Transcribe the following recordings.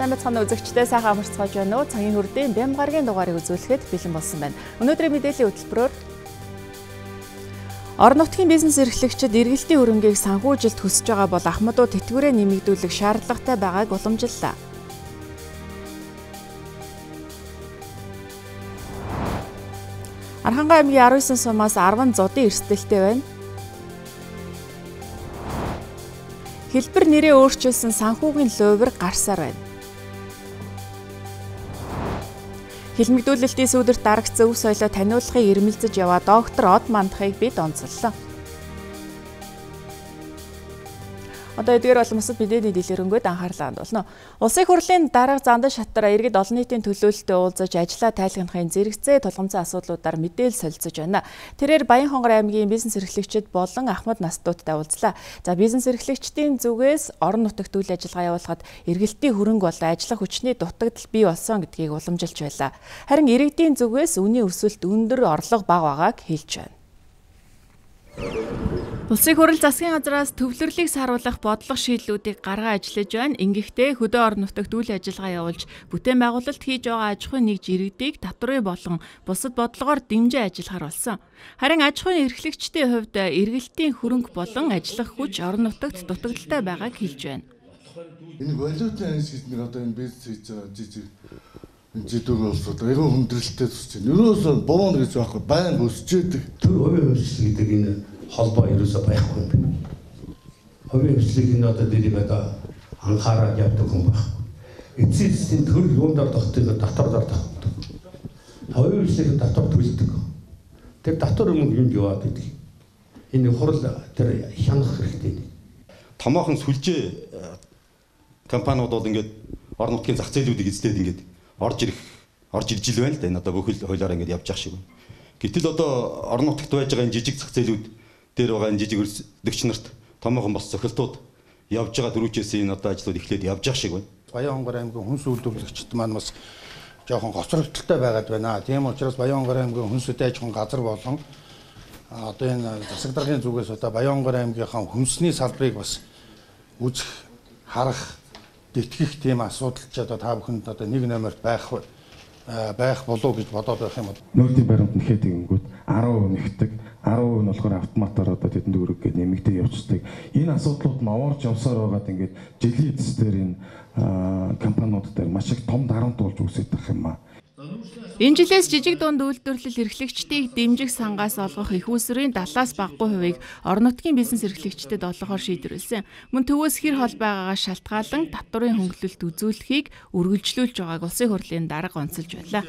Сайн бацхан үзэгчдээ сайхан амарцгааж байна уу? Цагийн хүрдийн Бямгаргийн дугаарыг үзүүлэхэд бэлэн болсон байна. Өнөөдрийн мэдээллийн хөтөлбөрөөр орон нутгийн бизнес эрхлэгчид эргэлтийн хөрөнгийг санхүүжилт хүсэж байгаа бол ахмадууд тэтгэврээ нэмэгдүүлэх шаардлагатай байгааг уламжиллаа. Архангай аймгийн 19 сумаас 10 зодын эрсдэлтэй байна. Хэлбэр нэрээ өөрчилсөн санхүүгийн лувир гарсаар байна. Хэлмэгдүүлэлтийн сүүдэрт дарагц өв соёлоо таниулахыг ирмэлзэж яваа доктор Од Мандахыг бид онцоллоо. Одоо эдгээр бол масад мэдээний дэлгэрэнгээд анхаарлаа хандуулна. Улсын хурлын дарга Зандан шатар иргэд олон нийтийн төлөөлөлтөд уулзаж ажиллаа тайлгнахын зэрэгцээ тулгамцсан асуудлуудаар мэдээлэл солилцож байна. Тэрээр Баянхонгор аймгийн бизнес эрхлэгчид болон ахмад настуудтай уулзлаа. За бизнес эрхлэгчдийн зүгээс орон нутагт үйл ажиллагаа явуулахад эргэлтийн хөрөнгө болон ажиллах хүчний дутагдал бий болсон гэдгийг уламжилж байлаа. Харин иргэдийн зүгээс үнийн өсөлт өндөр орлого бага байгааг хэлж байна. Улсын хурал засгийн газраас төвлөрлийг саруулах бодлого шийдлүүдийг гаргаа ажиллаж байна. Ингэхдээ хөдөө орон нутагт үйл ажиллагаа явуулж бүтээн байгуулалт хийж байгаа аж ахуйн нэгж иргэдийг татврын болон бусад бодлогоор дэмжиж ажиллахаар болсон. Харин аж ахуйн эрхлэгчдийн хувьд эргэлтийн хөрөнгө болон ажиллах хүч орон нутагт дутагдaltaй байгааг хэлж байна. Энэ валютын хэсэгт нэг одоо энэ бизнес хийж байгаа зэдүүр улсууд айгүй хүндрэлтэй тусч байна. Ерөөсөө бовон гэж байхгүй байнга өсөж идэг. Тэр хувийн хөвслөг гэдэг энэ холбоо ерөөсөө байхгүй юм байна. Хувийн хөвслөгийг энэ одоо дэрийг одоо анхаарал явдаг хүн байхгүй. Эцсийн засгийн төр юундаар тогтдог татвар тогтдог. Хувийн хөвслөгийн татвар төлдөг. Тэр татвар өмнө юунд яваад идэг. Энэ хурал тэр хянах хэрэгтэй. Томоохон сүлжээ компаниуд бол ингээд орон нутгийн зах зээлүүдийг эзлээд ингээд орж ирж ил байна л да. Энэ одоо бүхэл хуулиараа ингээд явж явах шиг байна. Гэтэл одоо орон нутагт байж байгаа энэ жижиг зах зээлүүд дээр байгаа энэ жижиг өрсөлдөгч нарт томоохон бос цохилтууд явж байгаа дөрвчээс энэ одоо ажлууд эхлээд явж явах шиг байна. Баянхонгор аймгийн хүнс үйлдвэрлэгчид маань бас жоохон гоцрогдолтой байгаад байна. Тийм учраас Баянхонгор аймгийн хүнс аж ахуйн газар болон одоо энэ засаг даргын зүгээс одоо Баянхонгор аймгийнхаа хүнсний салбарыг бас үзэх, харах, тэтгэх тийм асуудал ч одоо та бүхэнд одоо нэг номерт байх болов гэж бодоод байх юм бол нөөцийн баримт нэхээ тэгэнгүүт 10% нэгтдэг, 10% нь болохоор автоматар одоо тэдэнд өрөг гэж нэмэгдээ явцдаг. Энэ асуудлууд нь овоорч явсаар байгаад ингээд жилийн эцэс дээр энэ компаниуд дээр маш их том дарамт болж үсэж байгаа юм аа. Энэ жилээс жижиг дунд үйлдвэрлэл эрхлэгчдийг дэмжих сангаас олгох их усрын 70-аас багагүй хувийг орон нутгийн бизнес эрхлэгчдэд олгохоор шийдвэрлсэн. Мөн төвөөс хэр хол байгаагаас шалтгаалan татврын хөнгөлөлт үзүүлэхийг үргэлжлүүлж байгааг улсын хурлын дарга онцолж байлаа.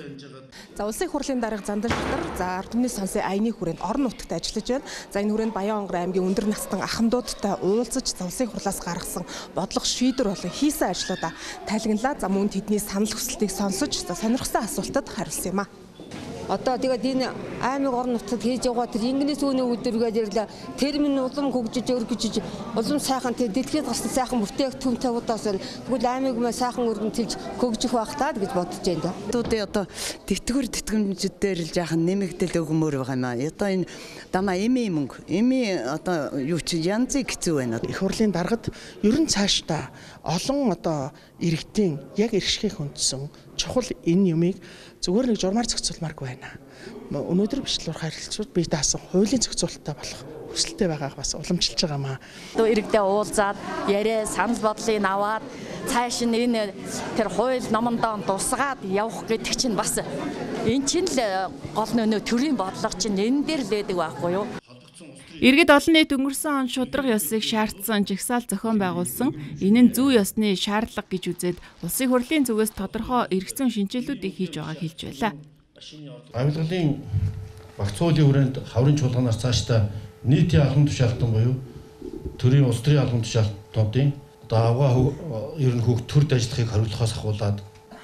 За улсын хурлын дарга Зандан шатар за ард түмний сонсын аяны хүрээнд орон нутагт ажиллаж байна. За энэ хүрээнд Баянхонгор аймгийн өндөр настан ахмадуудтай уулзаж улсын хурлаас гаргасан бодлого шийдвэр болон хийсэн ажлуудаа тайлгналаа. За мөн тэдний санал хүсэлтийг сонсож сонирхсан асуултад хариулсан юм а. Одоо тэгээд энэ аймаг орон нутгад хийж байгаа тэр инглиш үний өдргээд ирлээ. Термин улам хөгжиж өргөжж улам сайхан тэр дэлхийд гарсан сайхан бүтээгдэхүүн тавуудаас тэгвэл аймаг маа сайхан өргөнтөлж хөгжих байх таа гэж бодож байна. Туудын одоо тэтгэврээр л жаахан нэмэгдэл өгмөр байгаа юм аа. Одоо энэ дамаа эми мөнгө эми одоо юу ч янзыг хэцүү байна. Их хурлын даргад ер нь цаашдаа олон одоо иргэдийн яг иргэшгийг хүндсэн чухал энэ юмыг зүгээр нэг журмаар зохицуулмааргүй байна. Өнөөдөр бичлүүр харилцууд бие даасан хуулийн зохицуулалттай болох хүсэлтэй байгааг бас уламжилж байгаа маа. Одоо иргэдээ уулзаад яриа санал бодлыг аваад цааш нь энэ тэр хууль номондоо тусгаад явах гэдэг чинь бас энэ чинь л гол нөө төрийн бодлого чинь энэ дээр л байдаг байхгүй юу? Иргэд олон нийт өнгөрсөн он шудраг ёсыг шаардсан жагсаал зохион байгуулсан. Энэ нь зүй ёсны шаардлага гэж үзээд улсын хурлын зүгээс тодорхой эргэцэн шинжилгэүүдийг хийж байгааг хэлж байлаа. Авилгалын багц хуулийн хүрээнд хаврын чуулганаас цаашдаа нийтийн албан тушаалтан буюу төрийн улс төрийн албан тушаалтнуудын даваа ер нь хөгтөрд ажиллахыг хариуцлагаас ахуулаад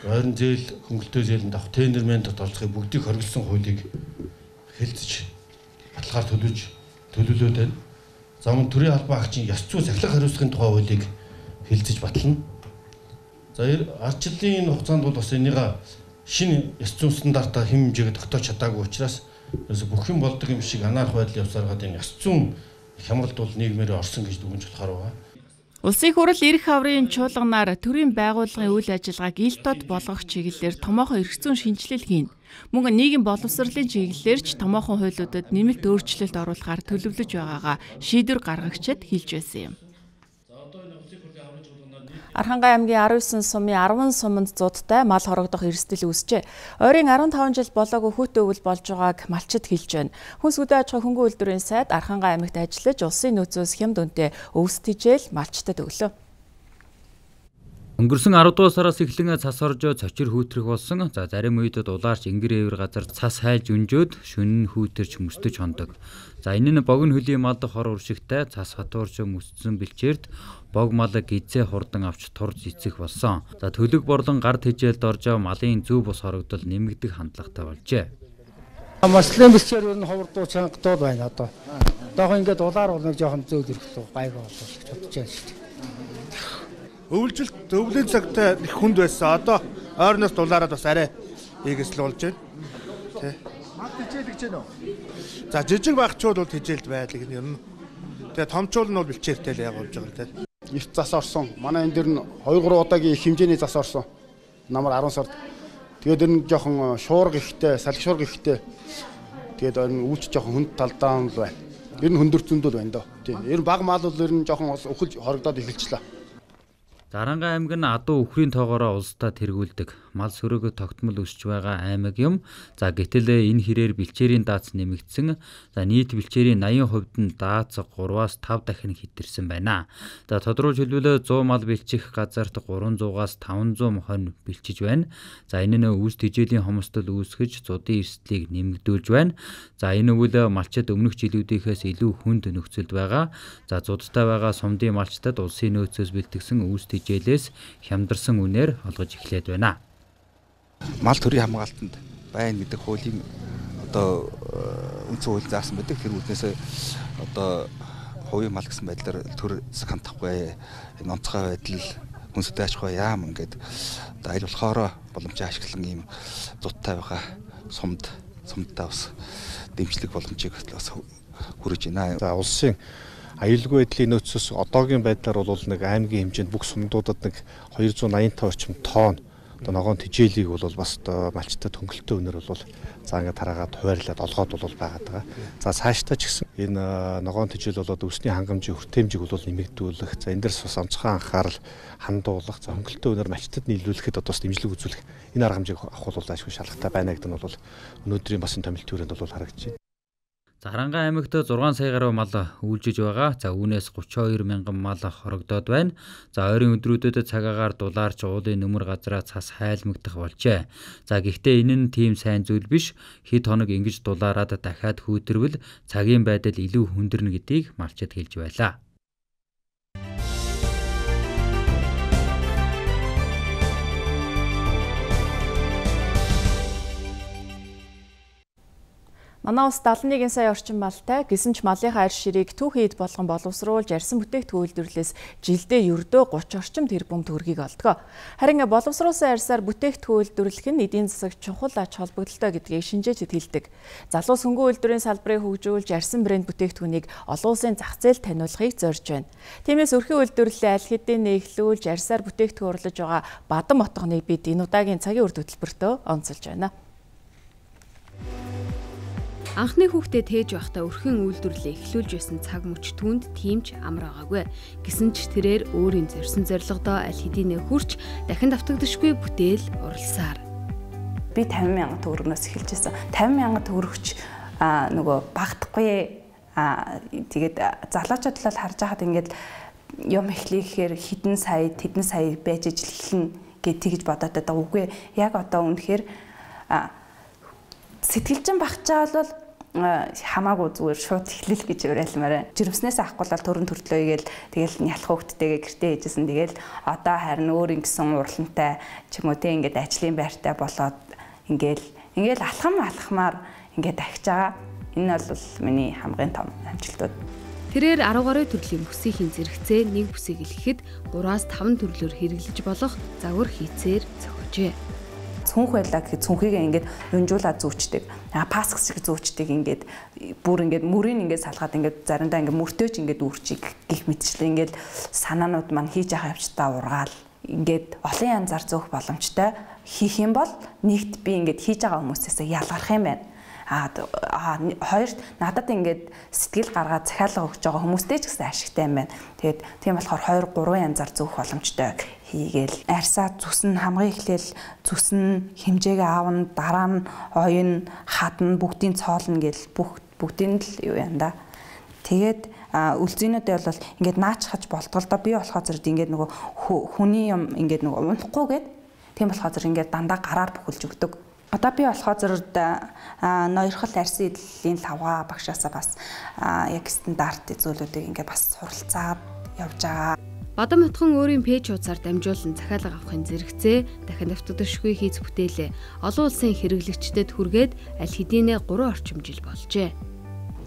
ойрон зээл хөнгөлтөө зээлэнд авах тендермен тодорхойлохыг бүгдийг хориглосон хуулийг хэлцэж баталгаар төлөвлөлөөд байна. За мөн төрийн албан агчийн ёс зүй захилах хариуцлагын тухай хуулийг хэлцэж батлана. За ардчлалын хугацаанд бол бас энийг шинэ ёс зүйн стандартаа хэм хэмжээгээ тогтоож чадаагүй учраас бүх юм болдог юм шиг анаарах байдал явсаар гад энэ ёс зүйн хямралд бол нийгмээр орсон гэж дүгнж болохоор байгаа. Улсын хурал эрх аврын чуулганаар төрийн байгууллагын үйл ажиллагааг ил тод болгох чиглэлээр томоохон эрх зүйн шинжилэл хийн. Мөн нийгэм боловсролын чиглэлээр ч томоохон хуулиудад нэмэлт өөрчлөлт оруулахаар төлөвлөж байгаагаа шийдвэр гаргагчид хэлж байсан юм. Архангай аймгийн 19 сумын 10 суманд зуудтай мал хорогдох эрсдэл үүсжээ. Ойрын 15 жил болоогүй хүүтэй өвөл болж байгааг малчид хэлж байна. Хүнс үдэ аж ахуйн хөнгөн үйлдвэрийн сайд Архангай аймагт ажиллаж улсын нөөцөөс хямд үнэтэй өвс тижэл малчтад өглөө. Өнгөрсөн 10 дугаар сараас эхлэн цас оржоо цочир хүүтрэх болсон. За зарим үед улаарч ингэр эвэр газар цас хайлж өнжөөд шөнө хүүтэрч мөсдөж хондог. За энэ нь богино хөлийн мал хор уршигтай цас хатуурч мөсцсөн бэлчээрд бог мал гизээ хурдан авч турж эцэх болсон. За төлөг борлон гар тэжээлд оржоо малын зөв бус хорогдол нэмэгдэх хандлагатай болжээ. Маслын бэлчээр ер нь ховордуу чангадууд байна одоо. Одоох ингээд улаар бол нэг жоохон зөөл ирэхлөө гайгүй болов гэж бодож байна шүү дээ. Өвлжилт өвлийн цагтаа их хүнд байсан. Одоо ойрноос дулаараад бас арай ийгэсэл болж байна. Тэ. Мал хичээл гэж байна уу? За жижиг багчууд бол хичээлд байлиг нь ер нь. Тэгээ томчууд нь бол бэлчээртэй л яг болж байгаа л дээ. Эрт зас орсон. Манай энэ дэр нь 2-3 удаагийн их хэмжээний зас орсон. Намар 10 сард. Тэгээд ер нь жоохон шуурга ихтэй, салхи шуурга ихтэй. Тэгээд ер нь үүлч жоохон хүнд талдаа л байна. Ер нь хөндөр зөндөл байна доо. Тийм. Ер нь баг мал бол ер нь жоохон өхөж хорогдоод эхэлчихлээ. Архангай аймаг нь адуу өхрийн тоогоороо улсдаа тэргүүлдэг. Мал сөрөөгө тогтмол өсч байгаа аймаг юм. За гэтэл энэ хэрээр бэлчээрийн дац нэмэгдсэн. За нийт бэлчээрийн 80% нь дац 3-аас 5 дахин хэтэрсэн байна. За тодруулж хэлбэл 100 мал бэлчих газарт 300-аас 500 мохин бэлчиж байна. За энэ нь үс тижээлийн хомсдол үүсгэж зуудын эрсдлийг нэмэгдүүлж байна. За энэ үйл малчид өмнөх жилүүдийнхээс илүү хүнд нөхцөлд байгаа. За зуудтай байгаа сумдын малчдад улсын нөөцөөс бэлтгэсэн үс тижээлээс хямдарсан үнээр олгож эхлээд байна. Мал төрийн хамгаалтанд байна гэдэг хуулийн одоо үндсэн хууль заасан байдаг. Тэр үднээс одоо хувийн мал гэсэн байдлаар төр засаг хандахгүй энэ онцгой байдал хүнстэй аж ахуй яам ингээд одоо аль болохоор боломжийг ашиглан ийм зуттай байгаа сумдтай бас дэмжлэг боломжийг бас хүргэж байна. За улсын аюулгүй байдлын нөөцөөс одоогийн байдлаар бол нэг аймгийн хэмжээнд бүх сумдуудад нэг 285 орчим тонн одоо ногоон тижээлийг бол бас одоо малчтад хөнгөлөлтөө өнөр бол за ингээд тараагаад хуваарлаад олгоод бол байгаад байгаа. За цаашдаа ч гэсэн энэ ногоон тижээл болоод өсний хангамжийн хүртээмжийг бол нэмэгдүүлэх. За энэ дээрс бас онцгой анхаарал хандуулах. За хөнгөлөлтөө өнөр малчтад нийлүүлэхэд одоо бас дэмжлэг үзүүлэх. Энэ арга хэмжээг авах бол ашгүй шалгатай байна гэдэг нь бол өнөөдрийн бас энэ томилтын хүрээнд бол харагдаж байна. За Архангай аймагт 6 сая гаруй мал үйлжиж байгаа. За үүнээс 32 мянган мал хорогдоод байна. За ойрын өдрүүдэд цагаагаар дулаарч уулын нөмөр газраа цас хайлмагдах болжээ. За гэхдээ энэ нь тийм сайн зүйл биш. Хэд хоног ингэж дулаараад дахиад хүүтэрвэл цагийн байдал илүү хүндэрнэ гэдгийг малчид хэлж байлаа. Манай улс 71 сая орчим малтай гэсэн ч малынхаа арь ширийг түүх хэд болгон боловсруулж арьсан бүтээгдэхүүн үйлдвэрлэлээс жилдээ ердөө 30 орчим тэрбум төгрөгийг олдгоо. Харин боловсруулсан арьсаар бүтээгдэхүүн үйлдвэрлэх нь эдийн засаг чухал ач холбогдолтой гэдгийг шинжээчид хэлдэг. Залуус хөнгөн үйлдвэрийн салбарыг хөгжүүлж арьсан брэнд бүтээгдэхүүнийг олон улсын зах зээлд таниулахыг зорьж байна. Тиймээс өрхийн үйлдвэрлэлээ аль хэдийн нэглүүлж арьсаар бүтээгдэхүүн урлаж байгаа Бадам отгоныг бид энэ удаагийн цагийн үр хөтөлбөртөө онцолж байна. Анхны хүүхдэд тээж байхдаа өрхийн үйлдвэрлэлээ эхлүүлж байсан цаг мөч түүнд тиймч амар байгаагүй. Гэсэн ч тэрээр өөрийн зорьсон зорилгодоо аль хэдийн хүрч дахин давтагдашгүй бүтээл уралсаар. Би 50 мянган төгрөгнөөс эхэлж байсан. 50 мянган төгрөгч нөгөө багтахгүй тэгээд залуучууд талаар харж байхад ингээд юм эхлэхээр хэдэн сая тэдэн сая байж ижил эхлэн гэж тэгж бодоод байгаа. Үгүй яг одоо үнэхээр сэтгэлжин багчаа бол хамаагүй зүгээр шууд эхлэл гэж уриалмаар. Жирэмснээс авахгүй бол төрөн төртлөө игээл тэгэл нялх хөвгттэйгээ гэртээ ээжсэн. Тэгэл одоо харин өөр ингэсэн уралантай ч юм уу те ингээд ажлын байртай болоод ингээл алхамаар ингээд ахиж байгаа. Энэ бол миний хамгийн том амжилтууд. Тэрээр 10 гаруй төрлийн бүсийн зэрэгцээ нэг бүсийг илгэхэд 3-5 төрлөөр хэрэглэж болох загвар хийцээр зохижээ. цүнх байлаа гэхэд цүнхийгээ ингээд унжуулаад зүүчдэг. Пас шиг зүүчдэг ингээд бүр ингээд мөрийг ингээд салгаад ингээд заримдаа ингээд мөртөөч ингээд үрчиг гих мэтчлээ ингээд санаанууд маань хийж явах явцдаа ургаал ингээд олон янзаар зөөх боломжтой хийх юм бол нэгт би ингээд хийж байгаа хүмүүсээс ялгарх юм байна. Хоёрт надад ингээд сэтгэл гаргаад захиалга өгч байгаа хүмүүстэй ч гэсэн ашигтай юм байна. Тэгээд тийм болохоор 2-3 янзаар зөөх боломжтой хийгээл арьсаа зүсэн хамгийн эхлээл зүсэн хэмжээгээ аавна, дараа нь ойн хадна, бүгдийн цоолно гэл бүгдийн л юу яана да. Тэгээд үлзийнүүдээ бол ингээд наачхаж болтгол доо би болохоо зэрэг ингээд нөгөө хүний юм ингээд нөгөө унахгүйгээд тийм болохоо зэрэг ингээд дандаа гараар бүхэлж өгдөг. Одоо би болохоо зэрэг ноёрхол арьсан эдлийн лавга багшаасаа бас яг стандарт зүйлүүдийг ингээд бас суралцаад явж байгаа. Бадам утхан өөрийн пэйж хуудасаар дамжуулан захиалга авахын зэрэгцээ дахин автодошгүй хийц бүтээлээ олон улсын хэрэглэгчдэд хүргээд аль хэдийнэ 3 орчим жил болжээ.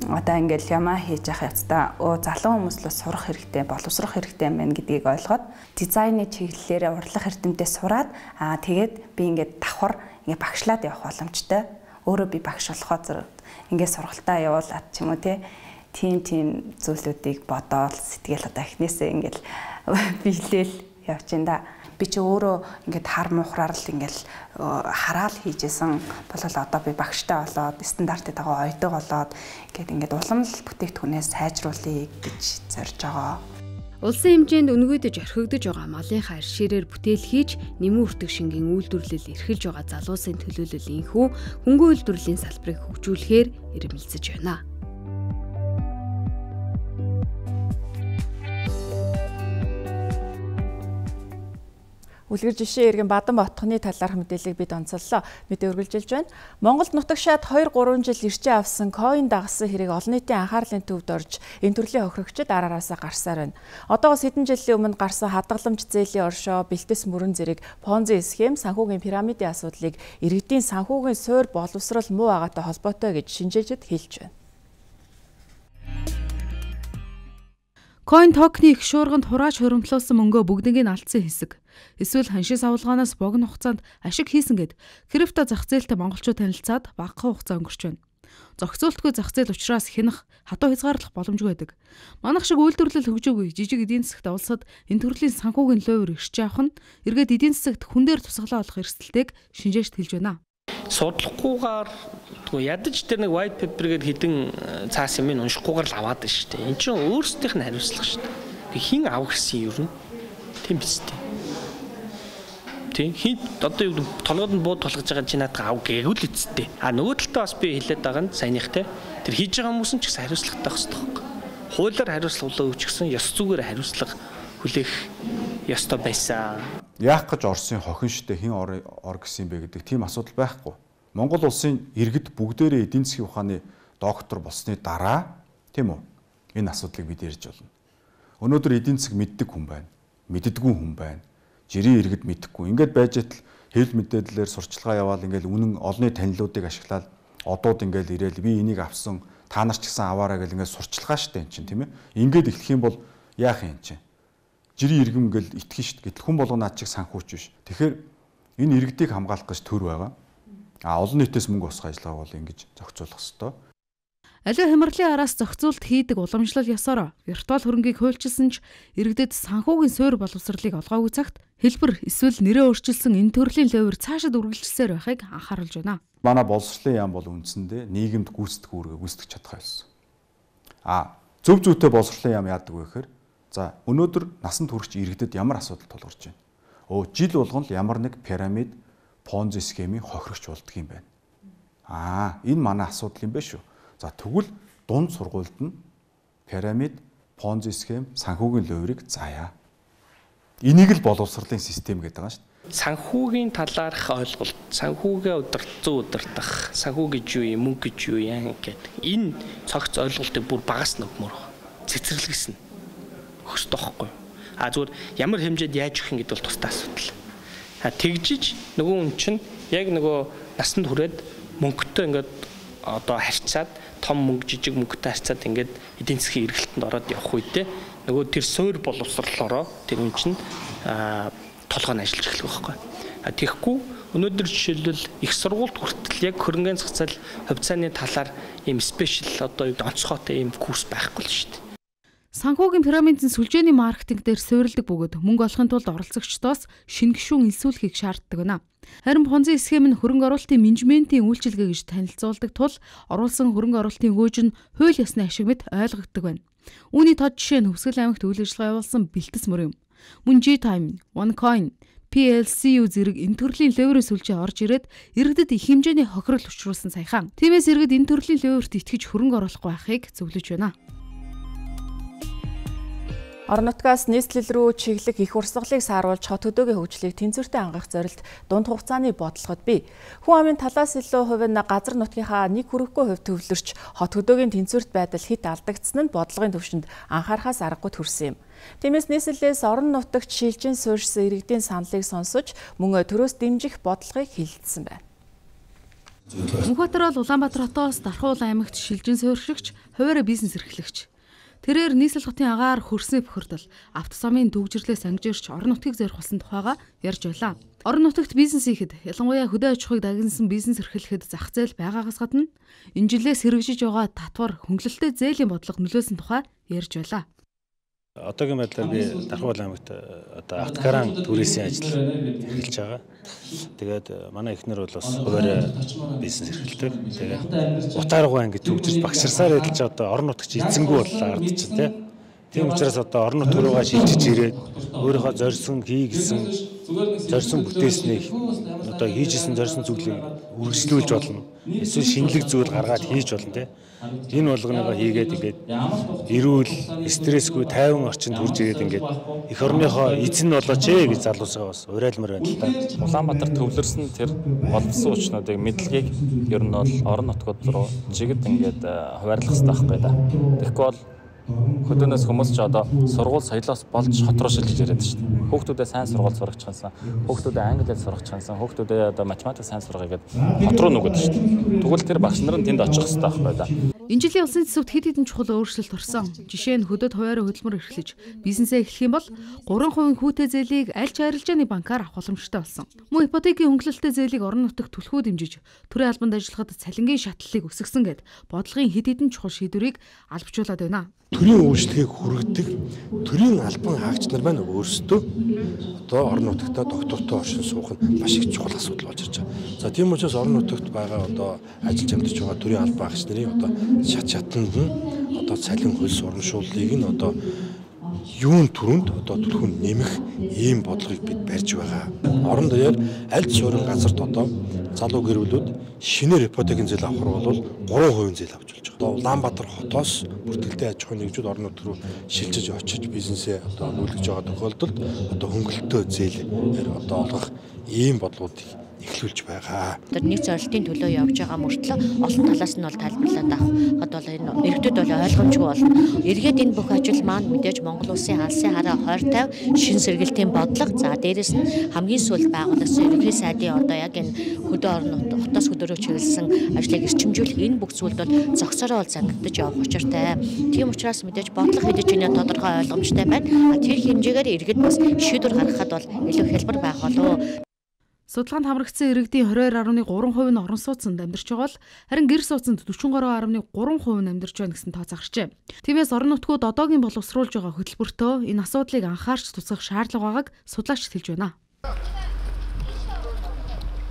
Одоо ингээд ямаа хийж явах явцдаа залуу хүмүүс л сурах хэрэгтэй, боловсрох хэрэгтэй юм байна гэдгийг ойлгоод дизайны чиглэлээр урлах эрдэмтэд сураад тэгээд би ингээд давхар ингээд багшлаад явах боломжтой. Өөрөө би багш болохоо зэрэг ингээд сургалтаа явуулаад ч юм уу тийм зүйлүүдийг бодоод сэтгэл одоо эхнээсээ ингээд биелэл явж ин да. Би чи өөрөө ингээд хар муухраар л ингээд хараал хийжсэн болол одоо би багштай болоод стандартыг дагуу ойдог болоод ингээд улам л бүтээгдэхүүнээ сайжруулъя гэж зорж байгаа. Улсын хэмжээнд өнгөдөж орхигдож байгаа малынхаа арширээр бүтээл хийж нэмэн үртэг шингийн үйлдвэрлэл эрхэлж байгаа залуусын төлөөлөл инхүү хөнгөн үйлдвэрлэлийн салбарыг хөгжүүлэхээр ирмэлцэж байна. Үлгэр жишээ иргэн Бадан ботхны талаарх мэдээллийг бид онцоллоо. Мэдээ үргэлжилж байна. Монголд нутагшаад 2-3 жил ирчээ авсан коин дагсан хэрэг олон нийтийн анхаарлын төвд орж энэ төрлийн хохирогчид араараасаа гарсаар байна. Одоогоос хэдэн жилийн өмнө гарсан хадгаламж зээлийн оршоо, бэлтгэс мөрөн зэрэг Понзи схем, санхүүгийн пирамидын асуудлыг иргэдийн санхүүгийн суурь боловсрол муу байгаатай холбоотой гэж шинжээчид хэлж байна. Coin token-ы их шуурганд хурааж хуримтлуулсан мөнгөө бүгднийг нь алдсан хэсэг. Эсвэл ханшийн савлгаанаас богино хугацаанд ашиг хийсэн гэд крипто зах зээлтэй монголчууд танилцаад багахан хугацаа өнгөрч байна. Зохицуултгүй зах зээл учраас хянах, хатуу хязгаарлах боломжгүй байдаг. Манайх шиг үйлдвэрлэл хөгжөөгүй жижиг эдийн засгт улсад энэ төрлийн санхүүгийн лойвор ирж явах нь эргээд эдийн засагт хүн дээр тусгалаа олох эрсдэлтэйг шинжээчд хэлж байна. Судлахгүйгээр ядаж тэр нэг white paper-гээр хідэн цаас юм уншихгүйгээр л аваад байна шүү дээ. Энд чинь өөрсдийнх нь хариуцлага шүү дээ. Хин авах гэсэн юм ер нь тийм биз дээ. Тийм хин одоо юу толгойд нь бууд толгож байгаа чи надад ав гээгүүл эцтэй. Нөгөө талдаа бас би хэлээд байгаа нь саяныхтай тэр хийж байгаа хүмүүс нь ч гэсэн хариуцлагатай байх хэрэгтэй. Хуулиар хариуцлага өгч гисэн ёс зүгээр хариуцлага хүлээх ёстой байсан. Яах гэж Оросын хохин штэ хин ор гэсэн бэ гэдэг тийм асуудал байхгүй. Монгол улсын иргэд бүгдээрээ эдийн засгийн ухааны доктор болсны дараа тийм үү энэ асуудлыг бид ярьж болно. Өнөөдөр эдийн засаг мэддэг хүн байна. Мэддэггүй хүн байна. Жирийн иргэд мэдэхгүй. Ингээд байж тал хэвлэл мэдээллээр сурчлагаа яваал ингээд үнэн олонний танилуудыг ашиглаад одууд ингээд ирээл би энийг авсан та нар ч гэсэн аваарай гэл ингээд сурчлагаа штэ эн чинь тийм ээ. Ингээд эхлэх юм бол яах юм чинь? Жирийн иргэм ингээл итгэн штт гэтэл хүн болгоо наад чиг санхүүч биш. Тэгэхээр энэ иргэдийг хамгаалах гэж төр байгаа. Олон нийтээс мөнгө босгох ажиллагааг бол ингэж зохицуулах ёстой. Аливаа хямралын араас зохицуулт хийдэг уламжлал ёсоор виртуал хөрөнгийг хуульчилсан ч иргэдэд санхүүгийн суурь боловсролыг олгоогүй цагт хэлбэр эсвэл нэрээ өөрчилсөн энэ төрлийн лойвор цаашид үргэлжилсээр байхыг анхааруулж байна. Манай боловсролын яам бол үндсэндээ нийгэмд гүйцэтгэх үүргээ гүйцэтгэж чадах байсан. Зөв зүйтэй боловсролын яам яадаг вэ гэхээр за өнөөдөр насанд хүрэгч иргэдэд ямар асуудал тулгарч байна? Жил болгон л ямар нэг пирамид, понзи схемийн хохирогч болдго юм байна. Энэ манай асуудал юм байна шүү. За тэгвэл дунд сургуульд нь пирамид, понзи схем, санхүүгийн лойврыг заая. Энийг л боловсролын систем гэдэг байгаа шүү. Санхүүгийн талаарх ойлголт, санхүүгээ удирдах, санхүү гэж юу юм, мөнгө гэж юу яа гэдэг. Энэ цогц ойлголтыг бүр багаас нөгмөр цэцэрлэгсэн. Хөстэй байхгүй. Зүгээр ямар хэмжээд яаж өгөх юм гэдэг бол тустай асуудал. Тэгжиж нөгөө хүн чинь яг нөгөө насанд хүрээд мөнгөтэй ингээд одоо харьцаад том мөнгө жижиг мөнгөтэй харьцаад ингээд эдийн засгийн эргэлтэнд ороод явах үедээ нөгөө тэр суурь боловсролоороо тэр хүн чинь толгойн ажиллаж эхлэх байхгүй. Тэгэхгүй Өнөөдөр жишээлбэл их сургуульд хүртэл яг хөрөнгөний зах зээл хувьцааны талаар ийм спешиал одоо онцгойтой ийм курс байхгүй л шүү дээ. Санхүүгийн пирамидын сүлжээний маркетинг дээр суурилдаг бөгөөд мөнгө олохын тулд оролцогчдоос шинэ гишүүн элсүүлэхийг шаарддаг байна. Харин Понзи схем нь хөрөнгө оруулалтын менежментийн үйлчилгээ гэж танилцуулдаг тул оруулсан хөрөнгө оруулалтын гүйж нь хууль ёсны ашиг мэт ойлгогддог байна. Үүний тод жишээ нь Хүсгэл аймагт үйл ажиллагаа явуулсан бэлтгэс мөр юм. Мөн G-Time, OneCoin, PLCU зэрэг энэ төрлийн леверийн сүлжээ орж ирээд иргэдэд их хэмжээний хохирол учруулсан саяхан. Тиймээс иргэд энэ төрлийн леверт итгэж хөрөнгө оруулахгүй байхыг зөвлөж байна. Орон нутгаас нийслэл рүү чиглэх их урсгалыг сааруулж хот хөдөөгийн хөгжлийг тэнцвэртэй хангах зорилт дунд хугацааны бодлогод бий. Хүн амын талаас илүү хувь нь газар нутгийнхаа нэг хүрэхгүй хувь төвлөрч хот хөдөөгийн тэнцвэрт байдал хит алдагдсан нь бодлогын түвшинд анхаарахаас аргагүй төрсөн юм. Тиймээс нийслэлээс орон нутагт шилжин суурьсан иргэдийн саналыг сонсож мөн төрөөс дэмжих бодлогыг хэлэлцсэн байна. Мөнхбаатар бол Улаанбаатар хотоос Дархуул аймагт шилжин суурьшигч, хуваарь бизнес эрхлэгч. Тэрээр нийслэл хотын агаар хөрсний бохирдол, автосамын төгжрлээс ангижирч орон нутгийг зорих болсон тухайга ярьж байлаа. Орон нутагт бизнес хийхэд, ялангуяа хөдөө аж ахуйг дагнасан бизнес эрхлэхэд зах зээл байгаагаас гадна энэ жилээс хэрэгжиж байгаа татвар хөнгөлөлттэй зээлийн бодлого нөлөөсөн тухай ярьж байлаа. Одоогийн байдлаар би Дархуул аймагт одоо автокаран түрээсийн ажил эрхэлж байгаа. Тэгээд манай эхнэр бол бас хуваарь бизнес эрхэлдэг. Тэгээд утааргүй ангид төгжиж багширсаар эдэлж одоо орон нутагч эзэнгүй боллоо ардч тий. Тийм учраас одоо орон нутг руугаа шилжиж ирээд өөрийнхөө зорьсон зорьсон бүтээснийг одоо хийжсэн зорьсон зүйлийг үргэлжлүүлж болно. Эсвэл шинэлэг зүйл гаргаад хийж болно тий. Энэ болгоныгоо хийгээд ингээд эрүүл, стрессгүй, тайван орчинд хүрж ирээд ингээд эх орныхоо эзэн болооч гэж залуусаа бас урайлмаар байна л да. Улаанбаатар төвлөрсөн тэр боловсон хүчнүүдийг мэдлэгийг ер нь бол орон нутгууд руу чигд ингээд хуваарлах хэрэгтэй байхгүй да. Тэгэхгүй бол хөдөөнөөс хүмүүс ч одоо сургууль соёлоос болж хот руу шилжиж ирээд шүү дээ. Хүүхдүүдээ сайн сургууль сурагчаансан, хүүхдүүдээ англиар сурагчаансан, хүүхдүүдээ одоо математик сайн сургая гэдэг хот руу нүгэд шүү дээ. Тэгвэл тэр багш нар нь тэнд очих хэрэгтэй байхгүй да. Энэ жилийн улсын төсөвт хэд хэдэн чухал өөрчлөлт орсон. Жишээ нь хөдөөд хуваарь хөдөлмөр эрхлэж бизнесээ эхлэх юм бол 3% хүүтэй зээлийг аль ч арилжааны банкар авах боломжтой болсон. Мөн ипотекийн хөнгөлөлттэй зээлийг орон нутагт түлхүү дэмжиж төрийн албанд ажиллахад цалингийн шатлалыг өсгсөн гэд бодлогын хэд хэдэн чухал шийдвэрийг албажуулаад байна. Төрийн үйлчлэгийг хүргэдэг төрийн албан хаагч нар маань өөрсдөө одоо орон нутагтаа доктортой оршин суух нь маш их чухал асуудал болж ирж байгаа. За тийм учраас орон нутагт байгаа одоо ажиллаж амьдарч байгаа төрийн албан хаагч нарын одоо шатнд нь одоо цалин хөлс урамшууллыг нь одоо юун түрүүнд одоо түлхүүнд нэмэх ийм бодлогыг бид барьж байгаа. Орон даяар аль суурин газарт одоо залуу гэрүүлүүд шинээр ипотекийн зээл авах бол 3% зээл авч болж байгаа. Одоо Улаанбаатар хотоос бүртгэлтэй аж ахуйн нэгжүүд орон нутг руу шилжиж очиж бизнесээ одоо нүүлгэж байгаа тохиолдолд одоо хөнгөлөлтөө зээл одоо олгох ийм бодлогуудыг эхлүүлж байгаа. Тэр нэг зорилтын төлөө явж байгаа мөртлөө олон талаас нь бол тайлбарлаад авахд бол энэ иргэдэд бол ойлгомжгүй болно. Эргээд энэ бүх ажил маань мэдээж Монгол улсын алсын хараа 2050 шин сэргэлтийн бодлого за дээрэс нь хамгийн сүүлд байгуулсан ерөнхий сайдын одоо яг энэ хөдөө орон нутгийн хотоос хөдөөрөө чиглэсэн ажлыг эрчимжүүлэх энэ бүх зүйлд бол зогсоороо бол зангидж явах учиртай. Тийм учраас мэдээж бодлого хэдэж ийнэ тодорхой ойлгомжтой байна. Тэр хэмжээгээр иргэд бас шийдвэр гаргахад бол илүү хялбар байх болов. Судалгаанд хамрагдсан иргэдийн 22.3% нь орон сууцнд амьдарч байгаа бол харин гэр сууцнд 43.3% нь амьдарч байна гэсэн тоо загарчээ. Тиймээс орон нутгууд одоогийн боловсруулж байгаа хөтөлбөртөө энэ асуудлыг анхаарч тусгах шаардлага байгааг судлаачид хэлж байна.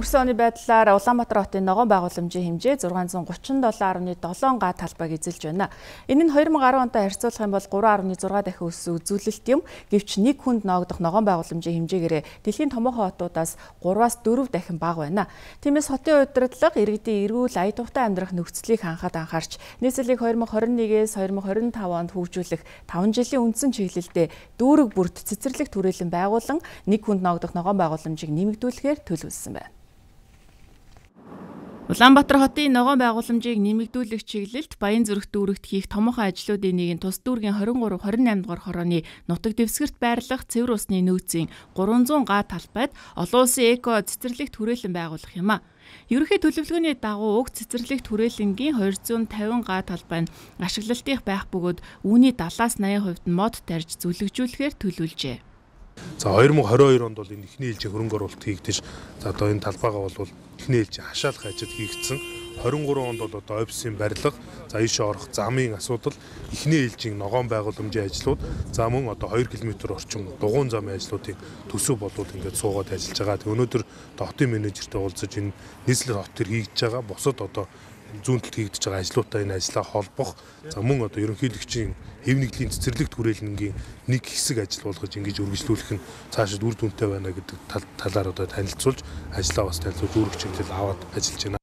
Өнгөрсөн оны байдлаар Улаанбаатар хотын ногоон байгууламжийн хэмжээ 637.7 га талбайг эзэлж байна. Энэ нь 2010 онтой харьцуулах юм бол 3.6 дахин өссөн үзүүлэлт юм. Гэвч нэг хүнд ноогдох ногоон байгууламжийн хэмжээгээр дэлхийн томоохон хотуудаас 3-аас 4 дахин бага байна. Тиймээс хотын удирдлага иргэдийн эрүүл ая тухтай амьдрах нөхцөлийг хангахад анхаарч нийслэлийг 2021-ээс 2025 онд хөгжүүлэх 5 жилийн үндсэн чиглэлдээ дүүрэг бүрт цэцэрлэг түрээлэн байгуулан нэг хүнд ноогдох ногоон байгууламжийг нэмэгдүүлэхээр төлөвлөсөн байна. Улаанбаатар хотын ногоон байгууламжийг нэмэгдүүлэх чиглэлд Баян зүрх дүүрэгт хийх томоохон ажлуудын нэг нь тус дүүргийн 23-28 дугаар хорооны нутаг дэвсгэрт байрлах цэвэр усны нөөцийн 300 га талбайд олон улсын эко цэцэрлэг түрээлэн байгуулах юм а. Ерөнхий төлөвлөгөөний дагуу уг цэцэрлэг түрээлэнгийн 250 га талбай нь ашиглалтын байх бөгөөд үүний 70-80% нь мод тарьж зүлэгжүүлэхээр төлөвлөжээ. За 2022 онд бол энэ эхний ээлжийн хөрөнгө оруулалт хийгдэж за одоо энэ талбайгаа бол эхний ээлжийн хашаалах ажил хийгдсэн. 23 онд бол одоо офисын барилга, за ийшээ орох замын асуудал, эхний ээлжийн ногоон байгууламжийн ажлууд, за мөн одоо 2 км орчим дугуйн замын ажлуудын төсөв болоод ингээд суугаад ажиллаж байгаа. Тэг өнөөдөр одоо хотын менежертэй уулзаж энэ нийслэл хот төр хийгдэж байгаа. Бусад одоо зүүн талд хийгдэж байгаа ажлуудаа энэ ажлаа холбох, за мөн одоо ерөнхийлөгчийн хэв нэгдлийн цэцэрлэг түрээлэнгийн нэг хэсэг ажил болгож ингэж үргэлжлүүлэх нь цаашид үр дүнтэй байна гэдэг талаар одоо танилцуулж ажлаа бас танилцуулж үүрэг чиглэл аваад ажиллаж байна.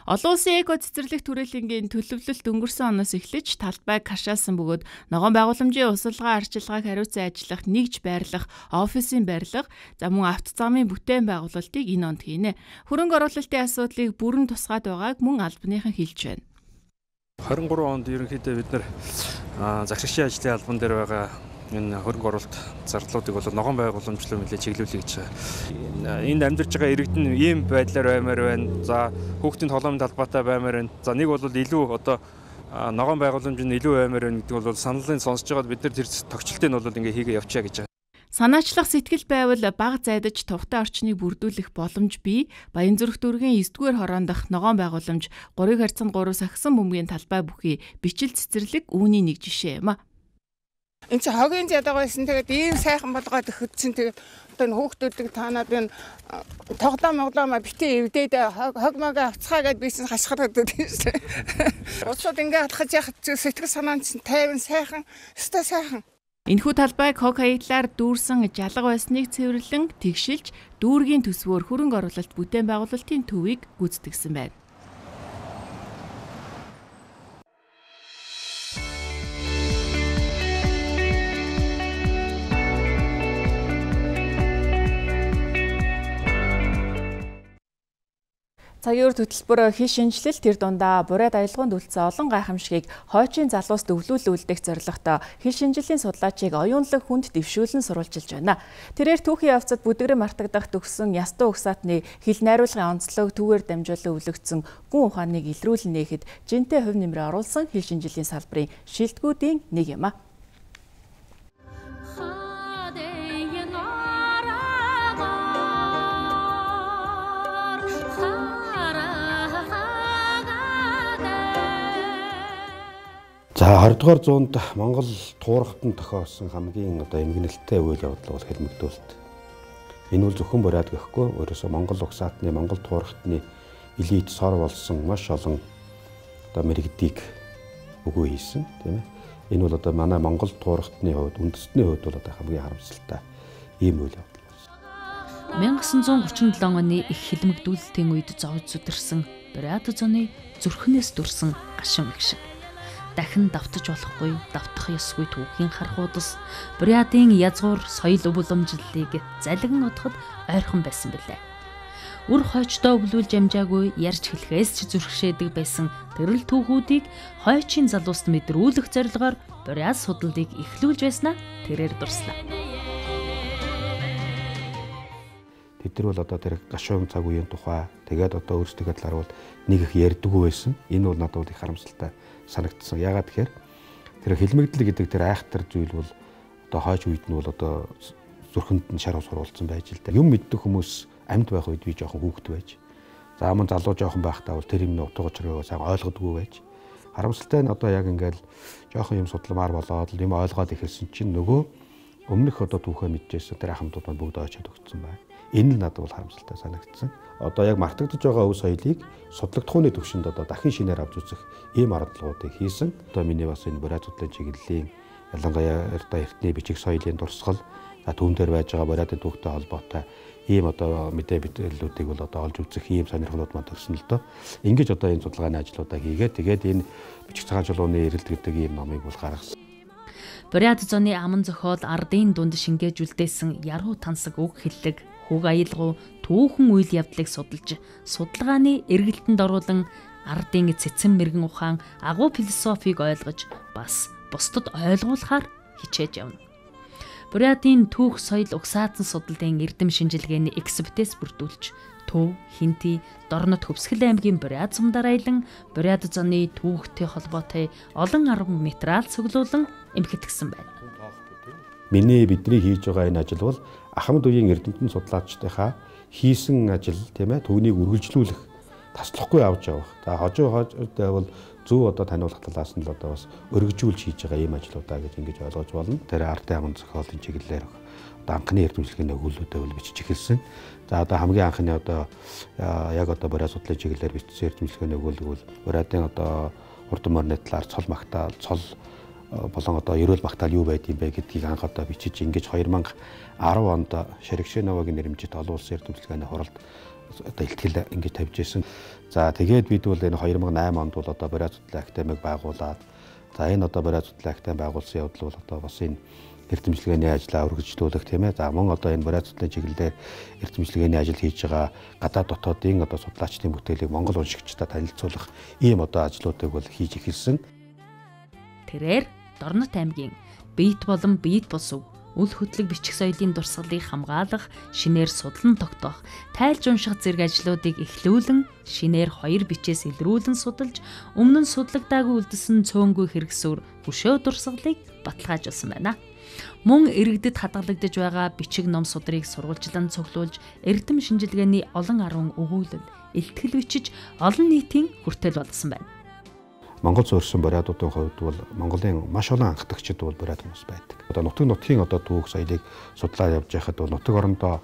Олон улсын эко цэцэрлэг түрээлэнгийн төлөвлөлт өнгөрсөн оноос эхлэж талбайг хашаасан бөгөөд ногоон байгууламжийн усалгаа арчилгааг хариуцсан ажиллах, нэгж байрлах, офисын барилга, за мөн автозамын бүтээн байгуулалтыг энэ онд хийнэ. Хөрөнгө оруулалтын асуудлыг бүрэн тусгаад байгааг мөн албаныхан хэлж байна. 23 онд ерөнхийдөө бид нар захирагчийн ажлын албан дээр байгаа энэ хөрөнгө оруулалт зарлуудыг бол ногоон байгууламжлуу нэлээд чиглүүлэх гэж байгаа. Энд амьдарч байгаа иргэдэн ийм байдлаар баймаар байна. За хүүхдийн тоглоомын талбайтай баймаар байна. За нэг бол илүү одоо ногоон байгууламж нь илүү баймаар байна гэдэг бол саналын сонсож байгаад бид нар тэр тогтчлтыг нь бол ингээ хийгээ явчаа гэж байгаа. Санаачлах сэтгэл байвал бага зайдаж тухтай орчныг бүрдүүлэх боломж бий. Баянзүрх дүүргийн 9-р хороонд дах ногоон байгууламж 3x3 сагсан бөмбөгийн талбай бүхий бичил цэцэрлэг үүний нэг жишээ юм а. Энд чи хогийн зядаг байсан. Тэгээд ийм сайхан болгоод өгсөн. Тэгээд одоо энэ хүүхдүүдийг таанаад энэ тоглоомоо битээ эвдээд хог мог авцгаа гэдээ бисэн хашгираад байсан. Уцууд ингээ алхаж яхад сэтгэл санаа нь тайван сайхан, өстой сайхан. Энэхүү талбайг хог хаяглаар дүүрсэн жалга байсныг цэвэрлэн тэгшилж дүүргийн төсвөөр хөрөнгө оруулалт бүтээн байгуулалтын төвийг гүйцэтгэсэн байна. Цагийн үр хөтөлбөр хил шинжилэл тэр дундаа бурайд аялгаунд үлдсэн олон гайхамшигыг хойчийн залуус өвлүүлүүлдэг зорилготой хил шинжиллийн судлаачийг оюунлаг хүнд дэвшүүлэн сурвалжилж байна. Тэрээр түүхийн явцад бүдгэрэн мартагдах төгсөн ястуу угсаатны хил найруулгын онцлог түүгээр дамжуулан өвлөгдсөн гүн ухааныг илрүүлэн нээхэд жинтэй хувь нэмрээ оруулсан хил шинжиллийн салбарын шилдэгүүдийн нэг юм а. За 20 дугаар зуунд Монгол туурхтанд тохиолсон хамгийн одоо эмгэнэлттэй үйл явдал бол хэлмэгдүүлэлт. Энэ бол зөвхөн бурайд гэхгүй өөрөөсөө Монгол угсаатны Монгол туурхтны элит сор болсон маш олон одоо мэрэгдийг өгөө хийсэн тийм ээ. Энэ бол одоо манай Монгол туурхтны хувьд үндэстний хувьд бол одоо хамгийн харамсалтай ийм үйл явдал болсон. 1937 оны их хэлмэгдүүлэлтийн үед зовж зүдэрсэн бурайд зоны зүрхнээс дүрсэн гашин их шиг. Дахин давтаж болохгүй, давтах ёсгүй түүхийн хархуудас бурайдын язгуур соёл уламжлалыг залгин одоход ойрхон байсан билээ. Үр хойчдоо өвлүүлж амжаагүй ярьж хэлэхээс ч зүрхшээдэг байсан тэрэл түүхүүдийг хойчийн залууст мэдрүүлэх зорилгоор бурайд судлалыг эхлүүлж байснаа тэрээр дурслаа. Тэд нар бол одоо тэр гашуун цаг үеийн тухай тэгээд одоо өөрсдөө талаар бол нэг их ярьдаггүй байсан. Энэ бол надад их харамсалтай санагдсан. Яагаад тэгэхээр тэр хэлмэгдэл гэдэг тэр айхтар зүйл бол одоо хойч үед нь бол одоо зүрхэнд нь шар ус оруулсан байж л да. Юм мэддэг хүмүүс амьд байх үед би жоохон хүүхэд байж. За мөн залуу жоохон байхдаа бол тэр юм утга учирыг сайн ойлгодгүй байж. Харамсалтай нь одоо яг ингээл жоохон юм судалмаар болоод юм ойлгоод ихэлсэн чинь нөгөө өмнөх одоо түүхээ мэдчихсэн тэр ахмадууд маань бүгд очиод өгсөн байна. Энэ л надад бол харамсалтай санагдсан. Одоо яг мартагдж байгаа өв соёлыг судлагдхууны төвшөнд одоо дахин шинээр авч үзэх ийм аргалагуудыг хийсэн. Одоо миний бас энэ бурайд судлалын чиглэлийн ялангуяа эртний бичиг соёлын дурсгал түүн дээр байж байгаа бурайдын түүхтэй холбоотой ийм одоо мэдээ бичлүүдийг бол одоо олж үзэх ийм сонирхлууд маань төрсөн л доо. Ингэж одоо энэ судалгааны ажлуудаа хийгээд тэгээд энэ бичиг цагаан чулууны эрэлт гэдэг ийм номыг бол гаргасан. Бурайд зоны аман зохиол ардын дунд шингээжүүлдээсэн яруу тансаг үг хэллэг хөг аялгау түүхэн үйл явдлыг судалж судалгааны эргэлтэнд оруулан ардын цэцэн мэрэгэн ухаан агуу философиг ойлгож бас бусдад ойлгуулахаар хичээж явна. Бурайдын түүх соёл угсаатан судлалын эрдэм шинжилгээний экспертиз бүрдүүлж Төв, Хинти, Дорнод Хөвсгөл аймгийн бурайд сумдаар аялан бурайд зоны түүхтэй холбоотой олон арга материал цуглуулан эмхэтгсэн байна. бидний хийж байгаа энэ ажил бол ахмад үеийн эрдэмтэн судлаачдынхаа хийсэн ажил тийм ээ түүнийг үргэлжлүүлэх таслахгүй авч явах. За хожуутай бол зөв одоо таниулах талаас нь л одоо бас өргөжүүлж хийж байгаа ийм ажлуудаа гэж ингэж ойлгож болно. Тэр ардын агуун зохиолын чиглэлээр одоо анхны эрдэмтлийн өгүүлбэрүүдээ бол бичиж эхэлсэн. За одоо хамгийн анхны одоо яг одоо бариа судлалын чиглэлээр бичсэн эрдэмтлийн өгүүлбэр бол бариадын одоо хурдан морины талаар цол магтаал цол болон одоо ерөөл магтаал юу байд юм бэ гэдгийг анх одоо бичиж ингэж 2010 онд Шерэгшэновагийн нэрмжит олон улсын эрдэмтлийн хуралд одоо илтгэл ингэж тавьж ирсэн. За тэгээд бид бол энэ 2008 онд бол одоо бариа судлалын академиг байгуулад за энэ одоо бариа судлалын академи байгуулсан явдал бол одоо бас энэ эрдэмтлийн ажлаа өргөжлүүлэх тийм ээ. За мөн одоо энэ бариа судлалын чиглэлээр эрдэмтлийн ажил хийж байгаа гадаад дотоодын одоо судлаачдын бүтээлийг Монгол уншигчдад танилцуулах ийм одоо ажлуудыг бол хийж эхэлсэн. Тэрээр Дорнот аймгийн Биет болон Биет бус үл хөдлөг бичих соёлын дурсгалыг хамгаалах, шинээр судлан тогтоох, тайлж унших зэрэг ажлуудыг эхлүүлэн, шинээр 2 бичээс илрүүлэн судалж, өмнө нь судлагдаагүй үлдсэн цөөнгүй хэрэгсүр хөшөө дурсгалыг баталгаажуулсан байна. Мөн иргэдэд хадгалагдаж байгаа бичиг ном судрыг сурвалжлан цуглуулж, эрдэм шинжилгээний олон арван өгүүлэл, илтгэл бичиж, олон нийтийн хүртэл болгосон байна. Монгол суурьсан бариадуудын хувьд бол Монголын маш олон анхдагчид бол бариад хүмүүс байдаг. Одоо нутгийн одоо түүх соёлыг судлаа явж байхад бол нутаг орондоо